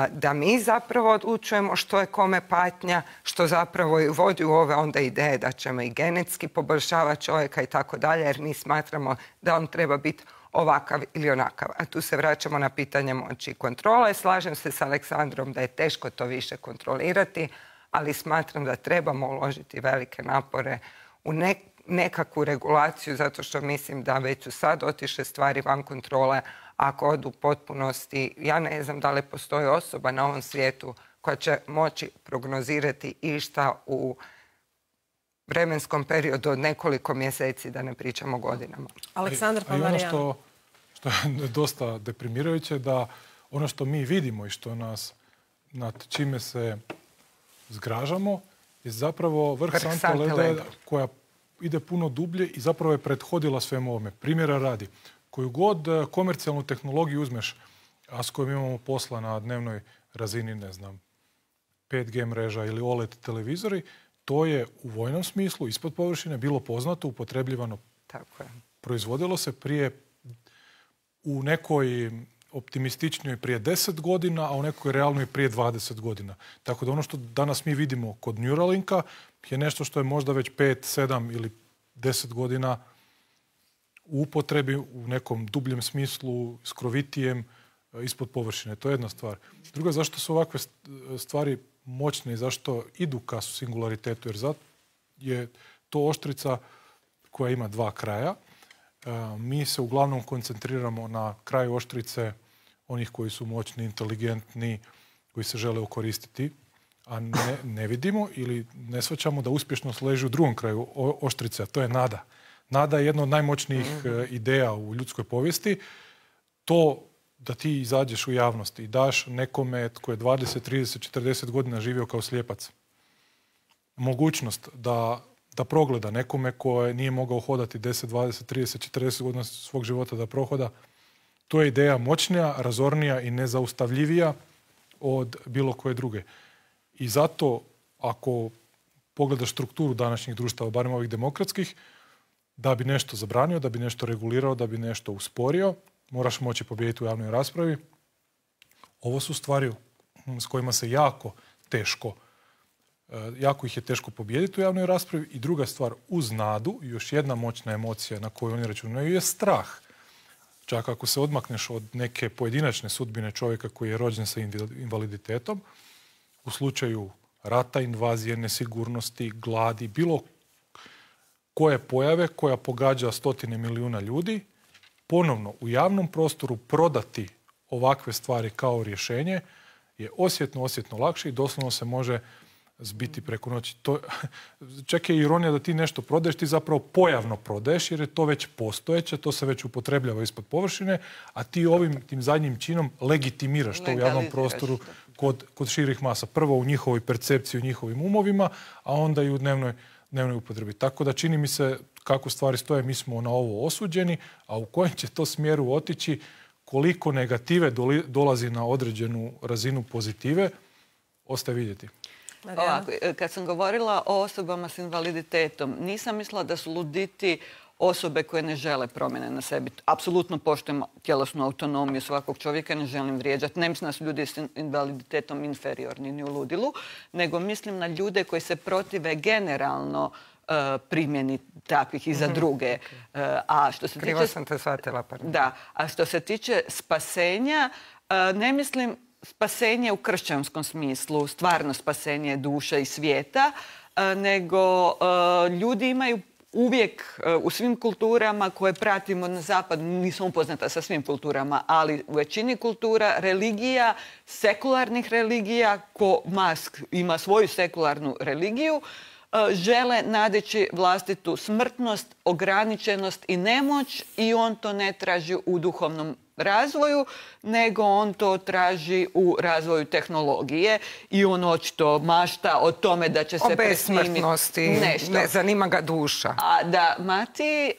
da mi zapravo odlučujemo što je kome patnja, što zapravo vodi u ove onda ideje da ćemo i genetski poboljšavati čovjeka i tako dalje, jer mi smatramo da on treba biti ovakav ili onakav. A tu se vraćamo na pitanje moći i kontrole. Slažem se s Aleksandrom da je teško to više kontrolirati, ali smatram da trebamo uložiti velike napore u nekakvu regulaciju, zato što mislim da već su sad otišle stvari van kontrole. Ako odu u potpunosti, ja ne znam da li postoji osoba na ovom svijetu koja će moći prognozirati išta u vremenskom periodu od nekoliko mjeseci, da ne pričamo godinama. Aleksandar pa Marijana. Ono što je dosta deprimirajuće, da ono što mi vidimo i što nas, nad čime se zgražamo, je zapravo vrh sante leda koja ide puno dublje i zapravo je prethodila svemu ovome. Primjera radi. Koju god komercijalnu tehnologiju uzmeš, a s kojom imamo posla na dnevnoj razini, ne znam, 5G mreža ili OLED televizori, to je u vojnom smislu, ispod površine, bilo poznato, upotrebljivano. Tako je. Proizvodilo se prije u nekoj optimističnijoj prije 10 godina, a u nekoj realnoj prije 20 godina. Tako da ono što danas mi vidimo kod Neuralinka je nešto što je možda već 5, 7 ili 10 godina u upotrebi u nekom dubljem smislu, skrovitijem, ispod površine. To je jedna stvar. Druga, zašto su ovakve stvari moćne i zašto idu ka singularitetu? Jer zato je to oštrica koja ima dva kraja. Mi se uglavnom koncentriramo na kraju oštrice onih koji su moćni, inteligentni, koji se žele okoristiti, a ne vidimo ili ne shvaćamo da uspješnost leži u drugom kraju oštrice, a to je nada. Nada je jedna od najmoćnijih ideja u ljudskoj povijesti. To da ti izađeš u javnost i daš nekome tko je 20, 30, 40 godina živio kao slijepac mogućnost da progleda nekome ko nije mogao hodati 10, 20, 30, 40 godina svog života da prohoda. To je ideja moćnija, razornija i nezaustavljivija od bilo koje druge. I zato, ako pogledaš strukturu današnjih društava, barem ovih demokratskih, da bi nešto zabranio, da bi nešto regulirao, da bi nešto usporio, moraš moći pobijediti u javnoj raspravi. Ovo su stvari s kojima se jako teško jako ih je teško pobijediti u javnoj raspravi. I druga stvar, uz nadu, još jedna moćna emocija na koju oni računaju je strah. Čak ako se odmakneš od neke pojedinačne sudbine čovjeka koji je rođen sa invaliditetom, u slučaju rata, invazije, nesigurnosti, gladi, bilo koje pojave koja pogađa 100 milijuna ljudi, ponovno u javnom prostoru prodati ovakve stvari kao rješenje je osjetno lakše i doslovno se može zbiti preko noći. Čak je ironija da ti nešto prodaješ, ti zapravo pojavno prodaješ jer je to već postojeće, to se već upotrebljava ispod površine, a ti tim zadnjim činom legitimiraš to u javnom prostoru kod širih masa. Prvo u njihovoj percepciji, u njihovim umovima, a onda i u dnevnoj upotrebi. Tako da čini mi se kako stvari stoje, mi smo na ovo osuđeni, a u kojem će to smjeru otići, koliko negative dolazi na određenu razinu pozitive, ostaje vidjeti. Ovako, kad sam govorila o osobama s invaliditetom, nisam mislila da su luditi osobe koje ne žele promjene na sebi. Apsolutno poštujem tjelesnu autonomiju svakog čovjeka, ne želim vrijeđati. Ne mislim da su ljudi s invaliditetom inferiorni ni u ludilu, nego mislim na ljude koji se protive generalno primjeni takvih i za druge. Krivo sam te shvatila. Da, a što se tiče spasenja, ne mislim spasenje u kršćanskom smislu, stvarno spasenje duše i svijeta, nego ljudi imaju uvijek u svim kulturama koje pratimo na zapad, nisam upoznata sa svim kulturama, ali u većini kultura religija, sekularnih religija, ko Musk ima svoju sekularnu religiju, žele nadići vlastitu smrtnost, ograničenost i nemoć i on to ne traži u duhovnom razvoju, nego on to traži u razvoju tehnologije i on očito mašta o tome da će se presnimiti besmrtnosti, ne zanima ga duša. A da Mati,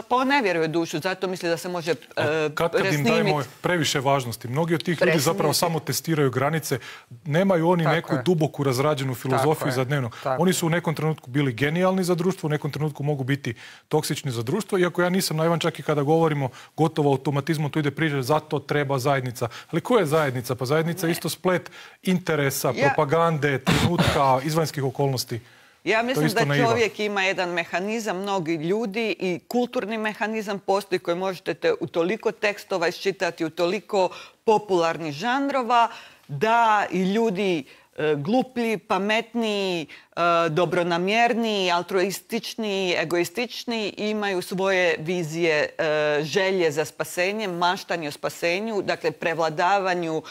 pa on ne vjeruje u dušu, zato misli da se može presnimiti. Kad im dajemo previše važnosti, mnogi od tih ljudi zapravo samo testiraju granice, nemaju oni neku duboku razrađenu filozofiju za dnevno. Oni su u nekom trenutku bili genijalni za društvo, u nekom trenutku mogu biti toksični za društvo, iako ja nisam naivan čak i kada govorimo gotovo automatizmom, to ide priča, zato treba zajednica. Ali koja je zajednica? Pa zajednica je isto splet interesa, propagande, trenutka, izvanjskih okolnosti. Ja mislim da čovjek ima jedan mehanizam, mnogi ljudi i kulturni mehanizam postoji koji možete u toliko tekstova iščitati, u toliko popularnih žanrova, da i ljudi gluplji, pametniji, dobronamjerniji, altruističniji, egoističniji imaju svoje vizije, želje za spasenjem, maštanje o spasenju, dakle prevladavanju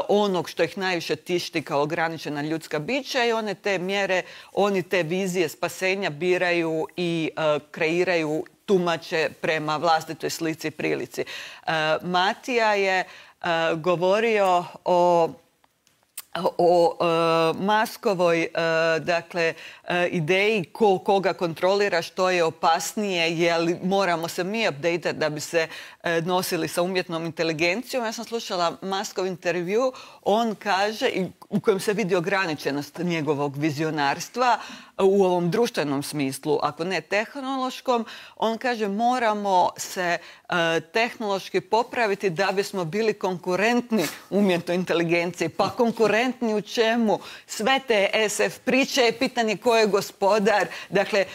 onog što ih najviše tišti kao ograničena ljudska bića i one te mjere, oni te vizije spasenja biraju i kreiraju, tumače prema vlastitoj slici i prilici. Matija je govorio o Muskovoj ideji koga kontrolira, što je opasnije, je li moramo se mi update da bi se nosili sa umjetnom inteligencijom. Ja sam slušala Muskov intervju, on kaže, u kojem se vidi ograničenost njegovog vizionarstva u ovom društvenom smislu, ako ne tehnološkom, on kaže moramo se tehnološki popraviti da bismo bili konkurentni umjetnoj inteligenciji. Pa konkurentni u čemu? Sve te SF priče je pitanje ko je gospodar. Dakle,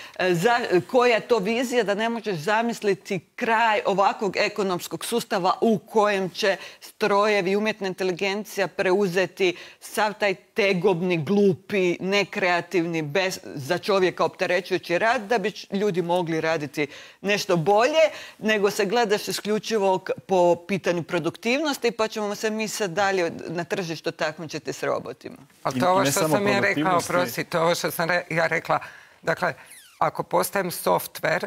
koja je to vizija da ne možeš zamisliti kraj ovakvog ekonomskog sustava u kojem će strojevi, umjetna inteligencija preuzeti sav taj tegobni, glupi, nekreativni, za čovjeka opterećujući rad, da bi ljudi mogli raditi nešto bolje, nego se gledaš isključivo po pitanju produktivnosti, pa ćemo se mi sad dalje na tržištu takmičiti s robotima. Ali to je ovo što sam ja rekla, oprosti, to je ovo što sam ja rekla. Dakle, ako postajem softver,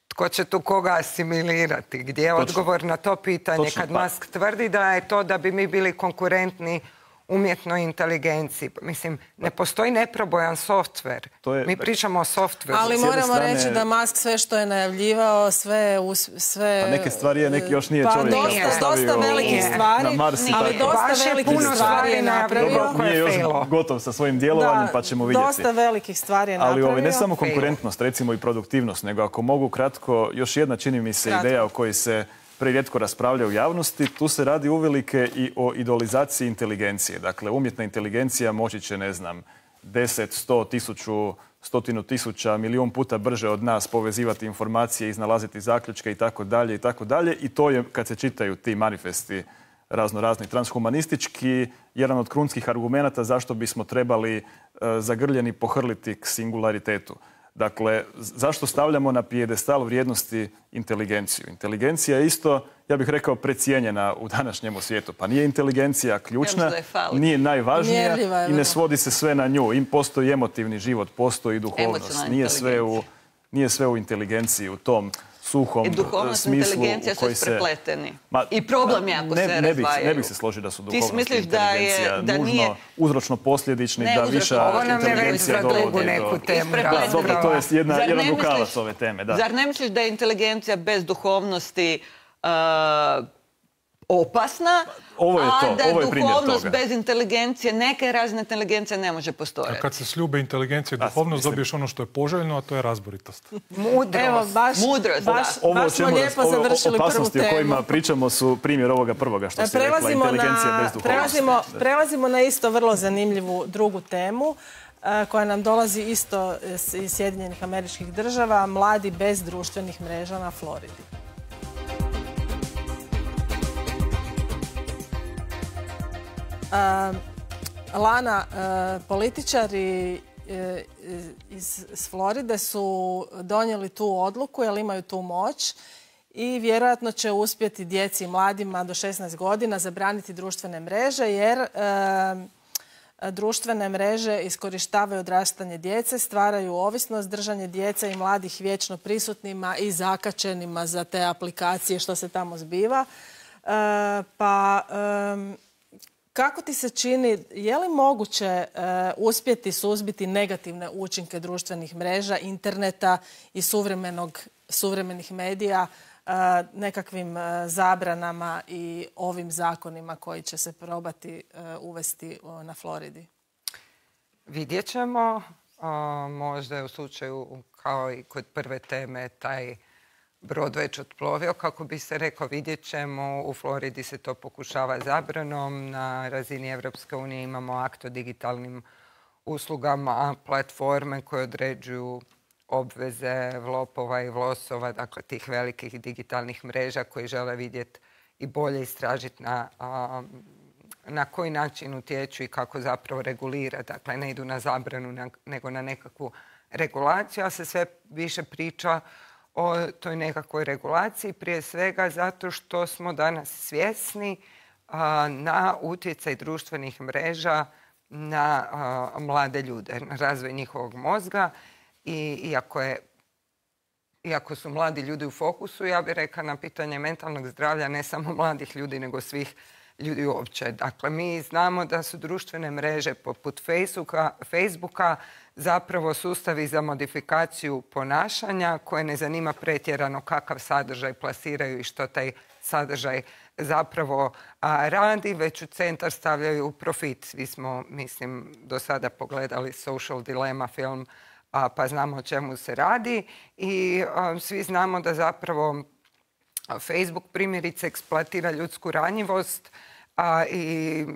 tko će tu koga asimilirati? Gdje je odgovor na to pitanje? Kad Musk tvrdi da je to da bi mi bili konkurentni umjetnoj inteligenciji. Mislim, ne postoji neprobojan softver. Mi pričamo o softveru. Ali moramo reći da Musk sve što je najavljivao, sve... A neke stvari je, neki još nije čovjek nastavio dosta velikih stvari, ali dosta velikih stvari je napravio. Nije još gotov sa svojim djelovanjem, pa ćemo vidjeti. Dosta velikih stvari je napravio. Ali ne samo konkurentnost, recimo i produktivnost, nego ako mogu kratko, još jedna čini mi se ideja o kojoj se prerijetko raspravlja u javnosti, tu se radi uvelike i o idolizaciji inteligencije. Dakle, umjetna inteligencija moći će, ne znam, 10, 100, 100 milijun puta brže od nas povezivati informacije, iznalaziti zaključke i tako dalje i tako dalje. I to je, kad se čitaju ti manifesti razno-razni transhumanistički, jedan od krunskih argumenata zašto bismo trebali zagrljeni pohrliti k singularitetu. Dakle, zašto stavljamo na pijedestal vrijednosti inteligenciju? Inteligencija je isto, ja bih rekao, precijenjena u današnjem svijetu. Pa nije inteligencija ključna, nije najvažnija i ne svodi se sve na nju. Postoji emotivni život, postoji duhovnost. Nije sve u inteligenciji, u tom suhom smislu. I duhovnost i inteligencija su isprepleteni. I problem je ako se razdvajaju. Ne bih se složio da su duhovnost i inteligencija nužno uzročno-posljedični, da viša inteligencija dovodi do... Dobro, to je jedan rukavac ove teme. Zar ne misliš da je inteligencija bez duhovnosti opasna, a da duhovnost bez inteligencije, neke razine inteligencije ne može postojati? A kad se sljube inteligencija i duhovnost, dobiješ ono što je poželjno, a to je razboritost. Mudrost. Evo, baš smo lijepo završili prvu opasnosti temu. O kojima pričamo su primjer ovoga prvoga što si rekla, inteligencija bez duhovnosti. Prelazimo na isto vrlo zanimljivu drugu temu koja nam dolazi isto iz Sjedinjenih Američkih Država, mladi bez društvenih mreža na Floridi. Lana, političari iz Floride su donijeli tu odluku jer imaju tu moć i vjerojatno će uspjeti djeci i mladima do 16 godina zabraniti društvene mreže jer društvene mreže iskorištavaju odrastanje djece, stvaraju ovisnost, držanje djece i mladih vječno prisutnima i zakačenima za te aplikacije što se tamo zbiva. Kako ti se čini, je li moguće uspjeti suzbiti negativne učinke društvenih mreža, interneta i suvremenih medija nekakvim zabranama i ovim zakonima koji će se probati uvesti na Floridi? Vidjet ćemo. Možda je u slučaju, kao i kod prve teme, taj brod već otplovio, kako bi se rekao, vidjet ćemo. U Floridi se to pokušava zabranom. Na razini Evropske unije imamo akt o digitalnim uslugama, platforme koje određuju obveze vlopova i vlosova, dakle tih velikih digitalnih mreža koji žele vidjeti i bolje istražiti na koji način utječu i kako zapravo regulira. Dakle, ne idu na zabranu, nego na nekakvu regulaciju, a se sve više priča o toj nekakvoj regulaciji, prije svega zato što smo danas svjesni na utjecaj društvenih mreža na mlade ljude, na razvoj njihovog mozga. I iako su mladi ljudi u fokusu, ja bih rekla na pitanje mentalnog zdravlja ne samo mladih ljudi, nego svih ljudi uopće. Dakle, mi znamo da su društvene mreže poput Facebooka zapravo sustavi za modifikaciju ponašanja koje ne zanima pretjerano kakav sadržaj plasiraju i što taj sadržaj zapravo radi, već u centar stavljaju profit. Svi smo, mislim, do sada pogledali Social Dilemma film, pa znamo o čemu se radi i svi znamo da zapravo Facebook primjerice eksploatira ljudsku ranjivost i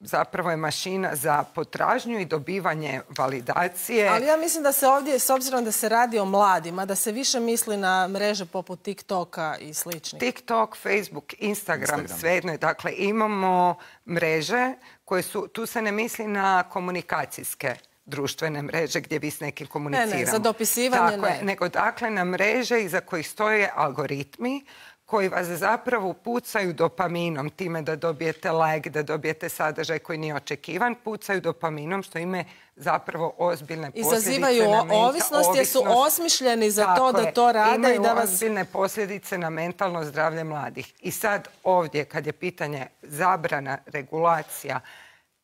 zapravo je mašina za potražnju i dobivanje validacije. Ali ja mislim da se ovdje, s obzirom da se radi o mladima, da se više misli na mreže poput TikToka i sličnih. TikTok, Facebook, Instagram. Svejedno je. Dakle, imamo mreže koje su, tu se ne misli na komunikacijske društvene mreže gdje vi s nekim komuniciramo. Ne, za dopisivanje ne. Nego dakle na mreže iza kojih stoje algoritmi koji vas zapravo pucaju dopaminom, time da dobijete like, da dobijete sadržaj koji nije očekivan, pucaju dopaminom, što ima zapravo ozbiljne posljedice. Izazivaju ovisnost jer su osmišljeni za to da to rade. Imaju i da vas ozbiljne posljedice na mentalno zdravlje mladih. I sad ovdje, kad je pitanje zabrana, regulacija,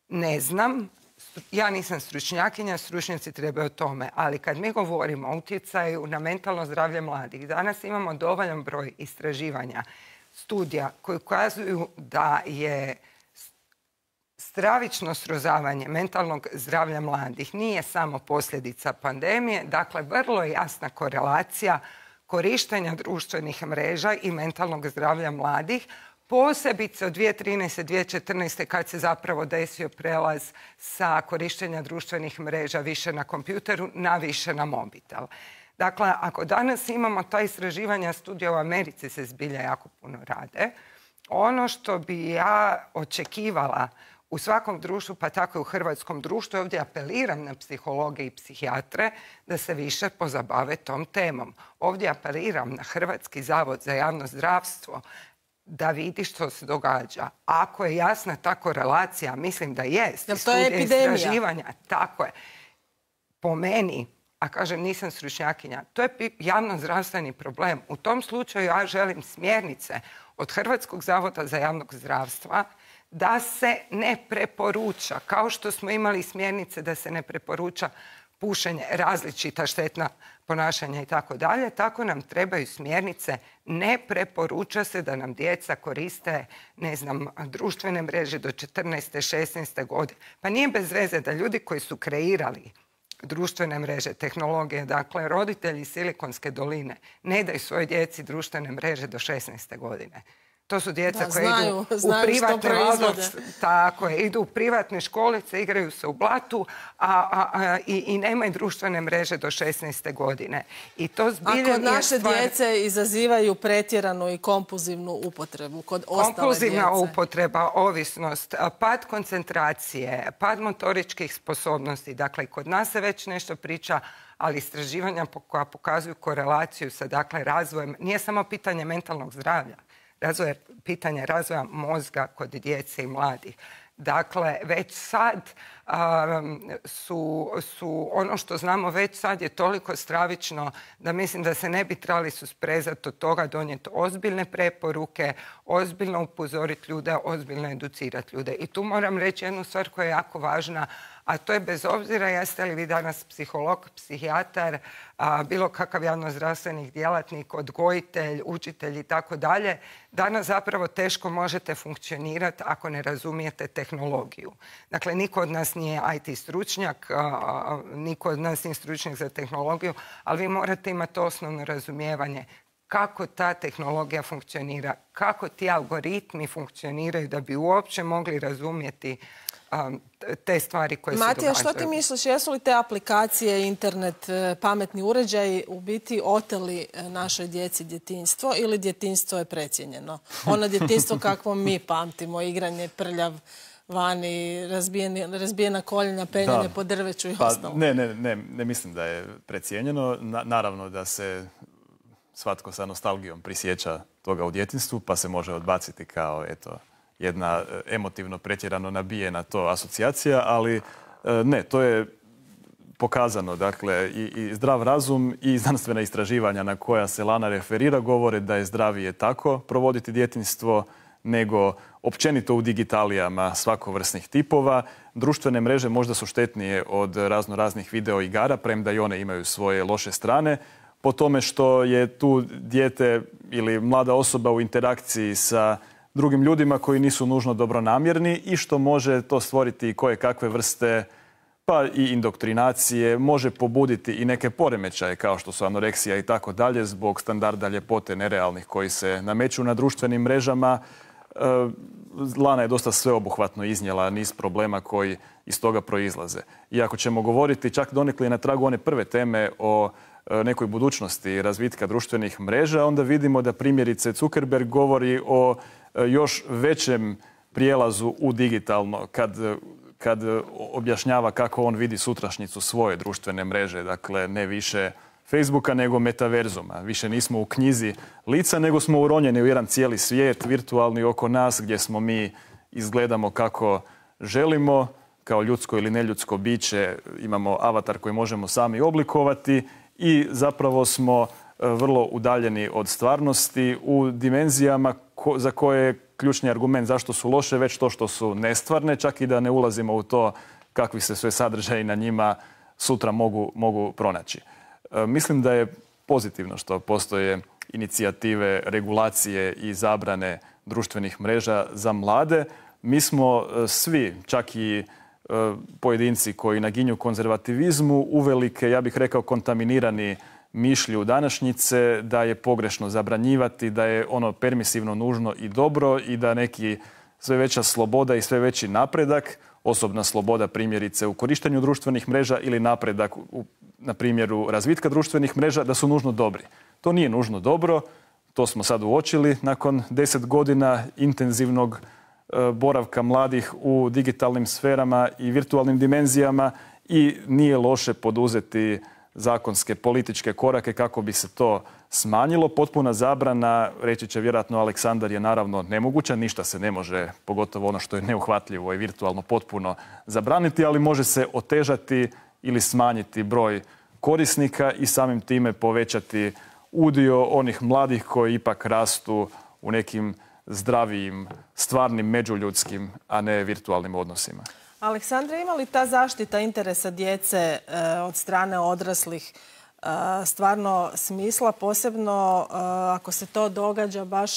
ne znam, ja nisam stručnjakinja, stručnjaci trebaju o tome, ali kad mi govorimo o utjecaju na mentalno zdravlje mladih, danas imamo dovoljan broj istraživanja, studija koji ukazuju da je stravično srozavanje mentalnog zdravlja mladih nije samo posljedica pandemije, dakle vrlo je jasna korelacija korištenja društvenih mreža i mentalnog zdravlja mladih, Posebice od 2013. 2014. kad se zapravo desio prelaz sa korištenja društvenih mreža više na kompjuteru na više na mobitel. Dakle, ako danas imamo ta istraživanja, studija u Americi se zbilja jako puno rade, ono što bi ja očekivala u svakom društvu, pa tako i u hrvatskom društvu, ovdje apeliram na psihologe i psihijatre da se više pozabave tom temom. Ovdje apeliram na Hrvatski zavod za javno zdravstvo da vidi što se događa. Ako je jasna ta korelacija, mislim da jest. Jel to je epidemija? Istraživanja, tako je. Po meni, a kažem nisam stručnjakinja, to je javno-zdravstveni problem. U tom slučaju ja želim smjernice od Hrvatskog zavoda za javnog zdravstva da se ne preporuča, kao što smo imali smjernice da se ne preporuča pušenje, različita štetna ponašanja i tako dalje, tako nam trebaju smjernice. Ne preporuča se da nam djeca koriste, ne znam, društvene mreže do 14. 16. godine. Pa nije bez veze da ljudi koji su kreirali društvene mreže, tehnologije, dakle roditelji Silikonske doline ne daju svojoj djeci društvene mreže do 16. godine. To su djeca koja idu u privatne tako je, idu u privatne školice, igraju se u blatu i nemaju društvene mreže do 16. godine. I to zbilja kod naše djece izazivaju pretjeranu i kompulzivnu upotrebu kod ostale djece. Kompulzivna upotreba, ovisnost, pad koncentracije, pad motoričkih sposobnosti. Dakle, kod nas se već nešto priča, ali istraživanja koja pokazuju korelaciju sa razvojem, nije samo pitanje mentalnog zdravlja, pitanje razvoja mozga kod djece i mladih. Dakle, već sad su ono što znamo već sad je toliko stravično da mislim da se ne bi trebali susprezati od toga, donijeti ozbiljne preporuke, ozbiljno upozoriti ljude, ozbiljno educirati ljude. I tu moram reći jednu stvar koja je jako važna, a to je bez obzira jeste li vi danas psiholog, psihijatar, bilo kakav javnozdravstveni djelatnik, odgojitelj, učitelj i tako dalje, danas zapravo teško možete funkcionirati ako ne razumijete tehnologiju. Dakle, niko od nas nije IT stručnjak, niko od nas nije stručnjak za tehnologiju, ali vi morate imati osnovno razumijevanje kako ta tehnologija funkcionira, kako ti algoritmi funkcioniraju da bi uopće mogli razumjeti te stvari koje se događaju. Matija, što ti misliš, jesu li te aplikacije, internet, pametni uređaji u biti oteli našoj djeci djetinjstvo ili djetinjstvo je precijenjeno? Ono djetinjstvo kakvo mi pamtimo, igranje prljav vani, razbijena koljena, penjanje po drveću i ostalo. Ne mislim da je precijenjeno. Naravno da se svatko sa nostalgijom prisjeća toga u djetinjstvu, pa se može odbaciti kao jedna emotivno pretjerano nabijena to asocijacija, ali ne, to je pokazano. Dakle, i zdrav razum i znanstvena istraživanja na koja se Lana referira govore da je zdravije tako provoditi djetinjstvo nego općenito u digitalijama svakovrsnih tipova. Društvene mreže možda su štetnije od raznih video igara, premda i one imaju svoje loše strane, po tome što je tu dijete ili mlada osoba u interakciji sa drugim ljudima koji nisu nužno dobronamjerni i što može to stvoriti koje kakve vrste pa i indoktrinacije, može pobuditi i neke poremećaje kao što su anoreksija i tako dalje zbog standarda ljepote nerealnih koji se nameću na društvenim mrežama. Lana je dosta sveobuhvatno iznijela niz problema koji iz toga proizlaze. I ako ćemo govoriti čak donekle na tragu one prve teme o nekoj budućnosti razvitka društvenih mreža, onda vidimo da primjerice Zuckerberg govori o još većem prijelazu u digitalno kad objašnjava kako on vidi sutrašnjicu svoje društvene mreže. Dakle, ne više Facebooka nego metaverzuma. Više nismo u knjizi lica, nego smo uronjeni u jedan cijeli svijet virtualni oko nas gdje smo mi izgledamo kako želimo, kao ljudsko ili neljudsko biće, imamo avatar koji možemo sami oblikovati i zapravo smo vrlo udaljeni od stvarnosti u dimenzijama za koje je ključni argument zašto su loše već to što su nestvarne, čak i da ne ulazimo u to kakvi se sve sadržaji na njima sutra mogu pronaći. Mislim da je pozitivno što postoje inicijative, regulacije i zabrane društvenih mreža za mlade. Mi smo svi, čak i pojedinci koji naginju konzervativizmu, uvelike, ja bih rekao, kontaminirani mišlju današnjice da je pogrešno zabranjivati, da je ono permisivno, nužno i dobro i da neki sve veća sloboda i sve veći napredak, osobna sloboda primjerice u korištenju društvenih mreža ili napredak na primjeru razvitka društvenih mreža, da su nužno dobri. To nije nužno dobro, to smo sad uočili nakon 10 godina intenzivnog boravka mladih u digitalnim sferama i virtualnim dimenzijama i nije loše poduzeti zakonske političke korake kako bi se to smanjilo. Potpuna zabrana, reći će vjerojatno Aleksandar, je naravno nemoguća. Ništa se ne može, pogotovo ono što je neuhvatljivo i virtualno, potpuno zabraniti, ali može se otežati ili smanjiti broj korisnika i samim time povećati udio onih mladih koji ipak rastu u nekim zdravijim, stvarnim međuljudskim, a ne virtualnim odnosima. Aleksandra, ima li ta zaštita interesa djece od strane odraslih stvarno smisla, posebno ako se to događa baš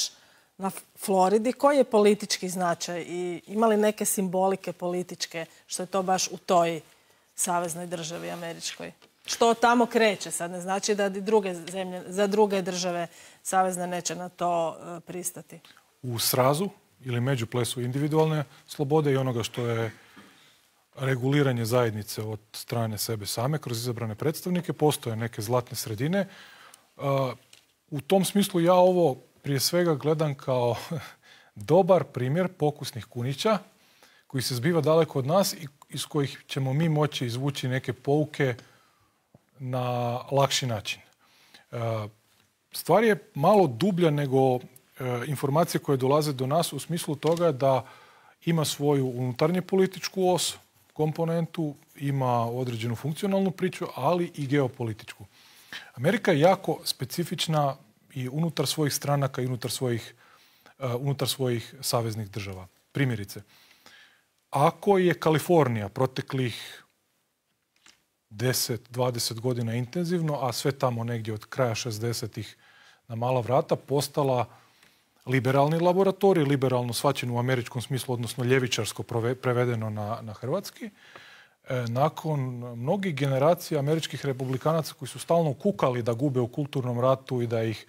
na Floridi? Koji je politički značaj i ima li neke simbolike političke što je to baš u toj saveznoj državi američkoj? Što tamo kreće sad ne znači da druge zemlje, za druge države savezne neće na to pristati. U srazu ili međuplesu individualne slobode i onoga što je reguliranje zajednice od strane sebe same kroz izabrane predstavnike, postoje neke zlatne sredine. U tom smislu ja ovo prije svega gledam kao dobar primjer pokusnih kunića koji se zbiva daleko od nas i iz kojih ćemo mi moći izvući neke pouke na lakši način. Stvar je malo dublja nego informacije koje dolaze do nas u smislu toga da ima svoju unutarnje političku os, komponentu, ima određenu funkcionalnu priču, ali i geopolitičku. Amerika je jako specifična i unutar svojih stranaka i unutar svojih saveznih država. Primjerice, ako je Kalifornija proteklih 10-20 godina intenzivno, a sve tamo negdje od kraja 60-ih na mala vrata postala liberalni laboratorij, liberalno shvaćen u američkom smislu, odnosno ljevičarsko prevedeno na hrvatski. Nakon mnogih generacija američkih republikanaca koji su stalno kukali da gube u kulturnom ratu i da ih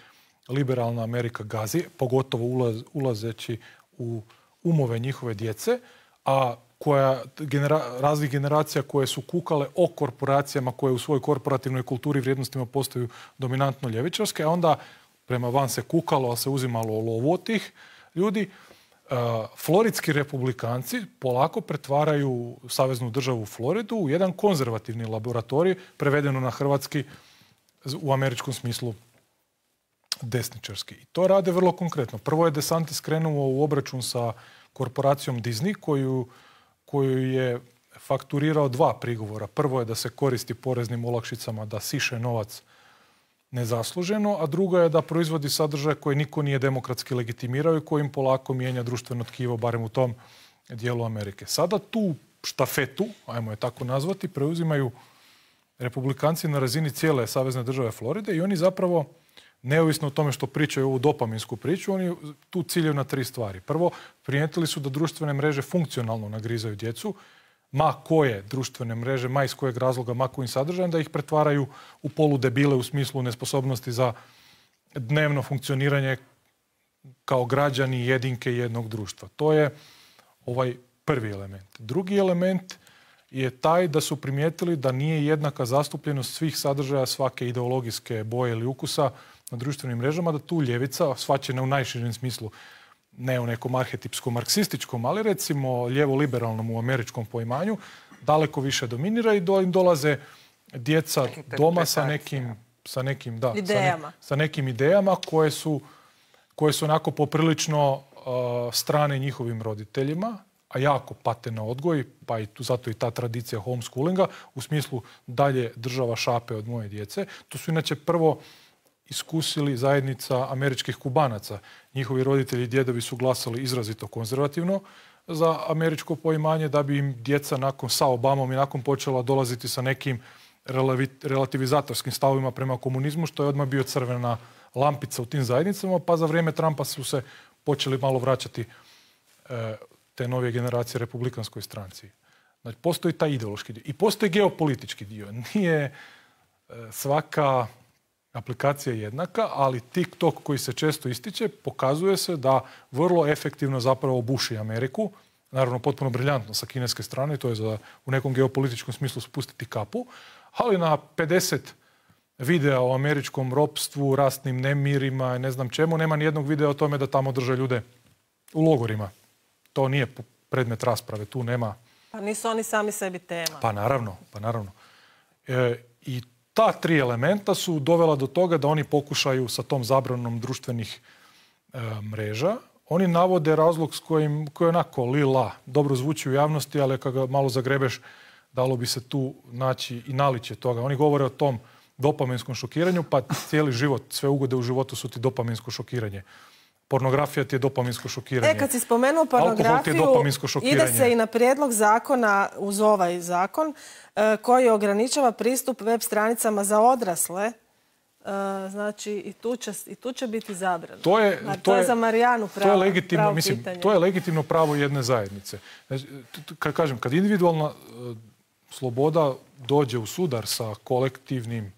liberalna Amerika gazi, pogotovo ulazeći u umove njihove djece, a raznih generacija koje su kukale o korporacijama koje u svojoj korporativnoj kulturi i vrijednostima postaju dominantno ljevičarske, a onda prema van se kukalo, ali se uzimalo lovu od tih ljudi. Floridski republikanci polako pretvaraju saveznu državu Floridu u jedan konzervativni laboratorij, prevedeno na hrvatski u američkom smislu desničarski. I to rade vrlo konkretno. Prvo je DeSantis krenuo u obračun sa korporacijom Disney, koju je fakturirao 2 prigovora. Prvo je da se koristi poreznim olakšicama, da siše novac nezasluženo, a drugo je da proizvodi sadržaje koje niko nije demokratski legitimirao i kojim polako mijenja društveno tkivo, barem u tom dijelu Amerike. Sada tu štafetu, ajmo je tako nazvati, preuzimaju republikanci na razini cijele savezne države Floride i oni zapravo, neovisno o tome što pričaju ovu dopaminsku priču, oni tu ciljaju na 3 stvari. Prvo, primijetili su da društvene mreže funkcionalno nagrizaju djecu, ma koje društvene mreže, ma iz kojeg razloga, ma kojim sadržajem, da ih pretvaraju u poludebile u smislu nesposobnosti za dnevno funkcioniranje kao građani jedinke jednog društva. To je ovaj prvi element. Drugi element je taj da su primijetili da nije jednaka zastupljenost svih sadržaja svake ideologijske boje ili ukusa na društvenim mrežama, da tu ljevica, shvaćena u najširem smislu, ne u nekom arhetipskom marksističkom, ali recimo lijevo-liberalnom u američkom poimanju, daleko više dominira i im dolaze djeca doma sa nekim idejama koje su onako poprilično strane njihovim roditeljima, a jako pate na odgoj, pa i zato i ta tradicija homeschoolinga, u smislu dalje država šape od moje djece. To su inače prvo iskusili zajednica američkih Kubanaca. Njihovi roditelji i djedovi su glasali izrazito konzervativno za američko poimanje, da bi im djeca sa Obamom i nakon počela dolaziti sa nekim relativizatorskim stavovima prema komunizmu, što je odmah bio crvena lampica u tim zajednicama, pa za vrijeme Trumpa su se počeli malo vraćati te novije generacije republikanskoj stranci. Znači, postoji taj ideološki dio. I postoji geopolitički dio. Nije svaka Aplikacija je jednaka, ali TikTok koji se često ističe pokazuje se da vrlo efektivno zapravo buši Ameriku. Naravno, potpuno briljantno sa kineske strane, to je za u nekom geopolitičkom smislu spustiti kapu, ali na 50 videa o američkom ropstvu, ratnim nemirima i ne znam čemu, nema ni jednog videa o tome da tamo drže ljude u logorima. To nije predmet rasprave, tu nema... Pa nisu oni sami sebi tema. Pa naravno. I ta 3 elementa su dovela do toga da oni pokušaju sa tom zabranom društvenih mreža. Oni navode razlog koji je onako lila, dobro zvuči u javnosti, ali kad ga malo zagrebeš, dalo bi se tu naći i naličje toga. Oni govore o tom dopaminskom šokiranju, pa cijeli život, sve ugode u životu su ti dopaminsko šokiranje. Pornografija ti je dopaminsko šokiranje. Kad si spomenuo pornografiju, ide se i na prijedlog zakona uz ovaj zakon koji ograničava pristup web stranicama za odrasle. Znači, i tu će biti zabrano. To je za Marijanu pravo pitanje. To je legitimno pravo jedne zajednice. Kad kažem, kad individualna sloboda dođe u sudar sa kolektivnim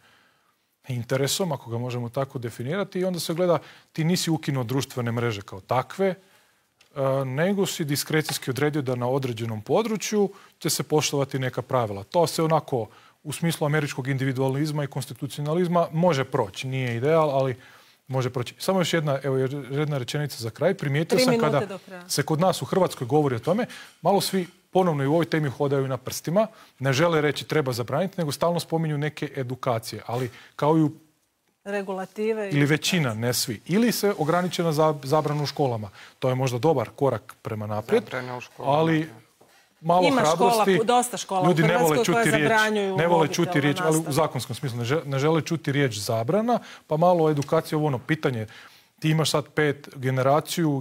interesom, ako ga možemo tako definirati, i onda se gleda, ti nisi ukinuo društvene mreže kao takve, nego si diskrecijski odredio da na određenom području će se poštovati neka pravila. To se onako u smislu američkog individualizma i konstitucionalizma može proći. Nije ideal, ali može proći. Samo još jedna rečenica za kraj. Primijetio sam kada se kod nas u Hrvatskoj govori o tome, malo svi ponovno i u ovoj temi hodaju na prstima, ne žele reći treba zabraniti, nego stalno spominju neke edukacije, ali kao i u regulative ili većina, ne svi. Ili se ograniče na zabranu u školama. To je možda dobar korak prema naprijed, ali malo hrabrosti. Dosta škola ljudi u Hrvatskoj koje zabranjuju ne vole čuti riječ, ali u zakonskom smislu ne žele čuti riječ zabrana, pa malo edukacije ovo pitanje. Ti imaš sad 5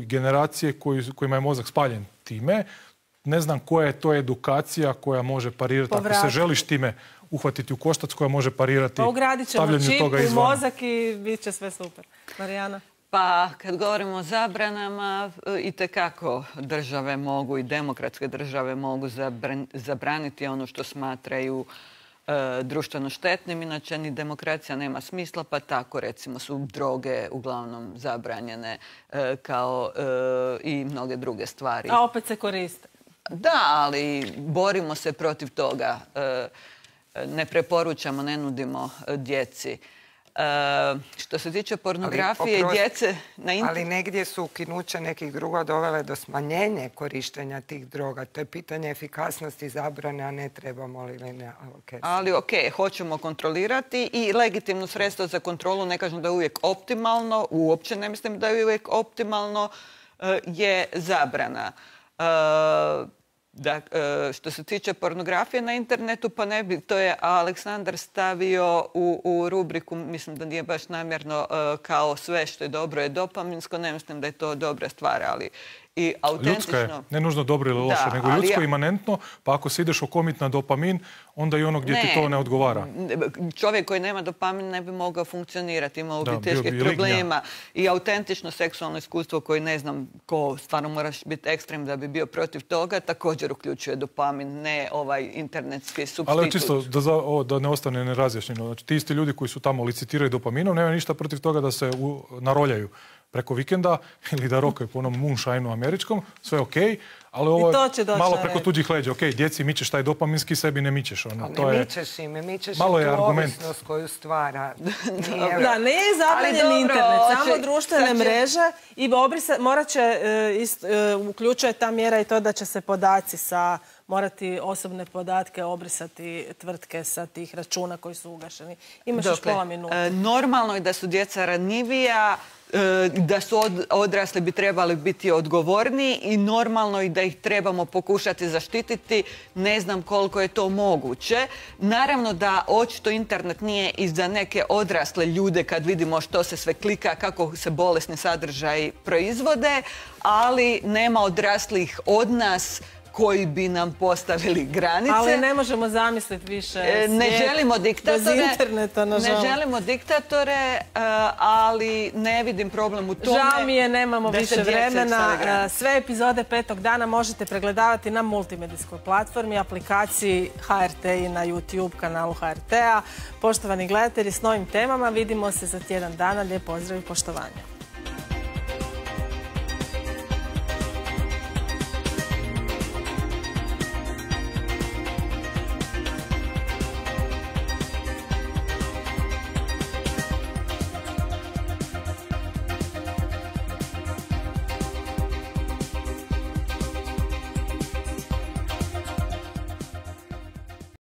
generacije kojima je mozak spaljen time. Ne znam koja je to edukacija koja može parirati. Ako se želiš time uhvatiti u koštac, koja može parirati stavljanju toga izvana. Ugradit ćemo čip u mozak i bit će sve super. Marijana? Pa, kad govorimo o zabranama, itekako države mogu i demokratske države mogu zabraniti ono što smatraju društveno štetnim. Inače, ni demokracija nema smisla, pa tako, recimo, su droge uglavnom zabranjene kao i mnoge druge stvari. A opet se koriste. Da, ali borimo se protiv toga. Ne preporučamo, ne nudimo djeci. Što se tiče pornografije i djece na internetu... Ali negdje su ukinuće nekih druga dovele do smanjenja korištenja tih droga. To je pitanje efikasnosti zabrane, a ne trebamo li ili ne. Ali hoćemo kontrolirati i legitimno sredstvo za kontrolu, ne kažem da je uvijek optimalno, uopće ne mislim da je uvijek optimalno, je zabrana. Što se tiče pornografije na internetu, pa ne bi, to je Aleksandar stavio u rubriku, mislim da nije baš namjerno, kao sve što je dobro je dopaminsko, ne mislim da je to dobra stvar, ali i autentično... Ljudska je, ne nužno dobro ili loše, nego ljudsko imanentno, pa ako se ideš okomit na dopamin, onda i ono gdje ti to ne odgovara. Čovjek koji nema dopamin ne bi mogao funkcionirati, imao bi teških problema. I autentično seksualno iskustvo koje ne znam ko, stvarno moraš biti ekstrem da bi bio protiv toga, također uključuje dopamin, ne ovaj internetski supstitut. Ali čisto da ne ostane nerazjašnjeno, znači ti isti ljudi koji su tamo licitiraju dopaminom, nema ništa protiv toga da se naroljaju preko vikenda ili da rokaju po onom moonshine-u američkom, sve okej, ali ovo je malo preko tuđih leđa. Okej, djeci mičeš taj dopaminski, sebi ne mičeš. Ne mičeš im i tu ovisnost koju stvara. Da, ne je zabranjen internet, samo društvene mreže i morat će, uključuje ta mjera i to da će se podaci morati osobne podatke obrisati tvrtke sa tih računa koji su ugašeni. Imaš još pola minuta. Normalno je da su djeca ranjivija, da su odrasli bi trebali biti odgovorniji i normalno je da ih trebamo pokušati zaštititi. Ne znam koliko je to moguće. Naravno da očito internet nije i za neke odrasle ljude kad vidimo što se sve klika, kako se bolesni sadržaji proizvode, ali nema odraslih od nas koji bi nam postavili granice. Ali ne možemo zamisliti više Ne želimo diktatore. bez interneta, nažalost. Ne želimo diktatore, ali ne vidim problem u tome. Žao mi je, nemamo da se više djeca vremena. stave granice. Sve epizode Petog dana možete pregledavati na multimedijskoj platformi, aplikaciji HRT i na YouTube kanalu HRT-a. Poštovani gledatelji, s novim temama vidimo se za tjedan dana. Lijep pozdrav i poštovanje.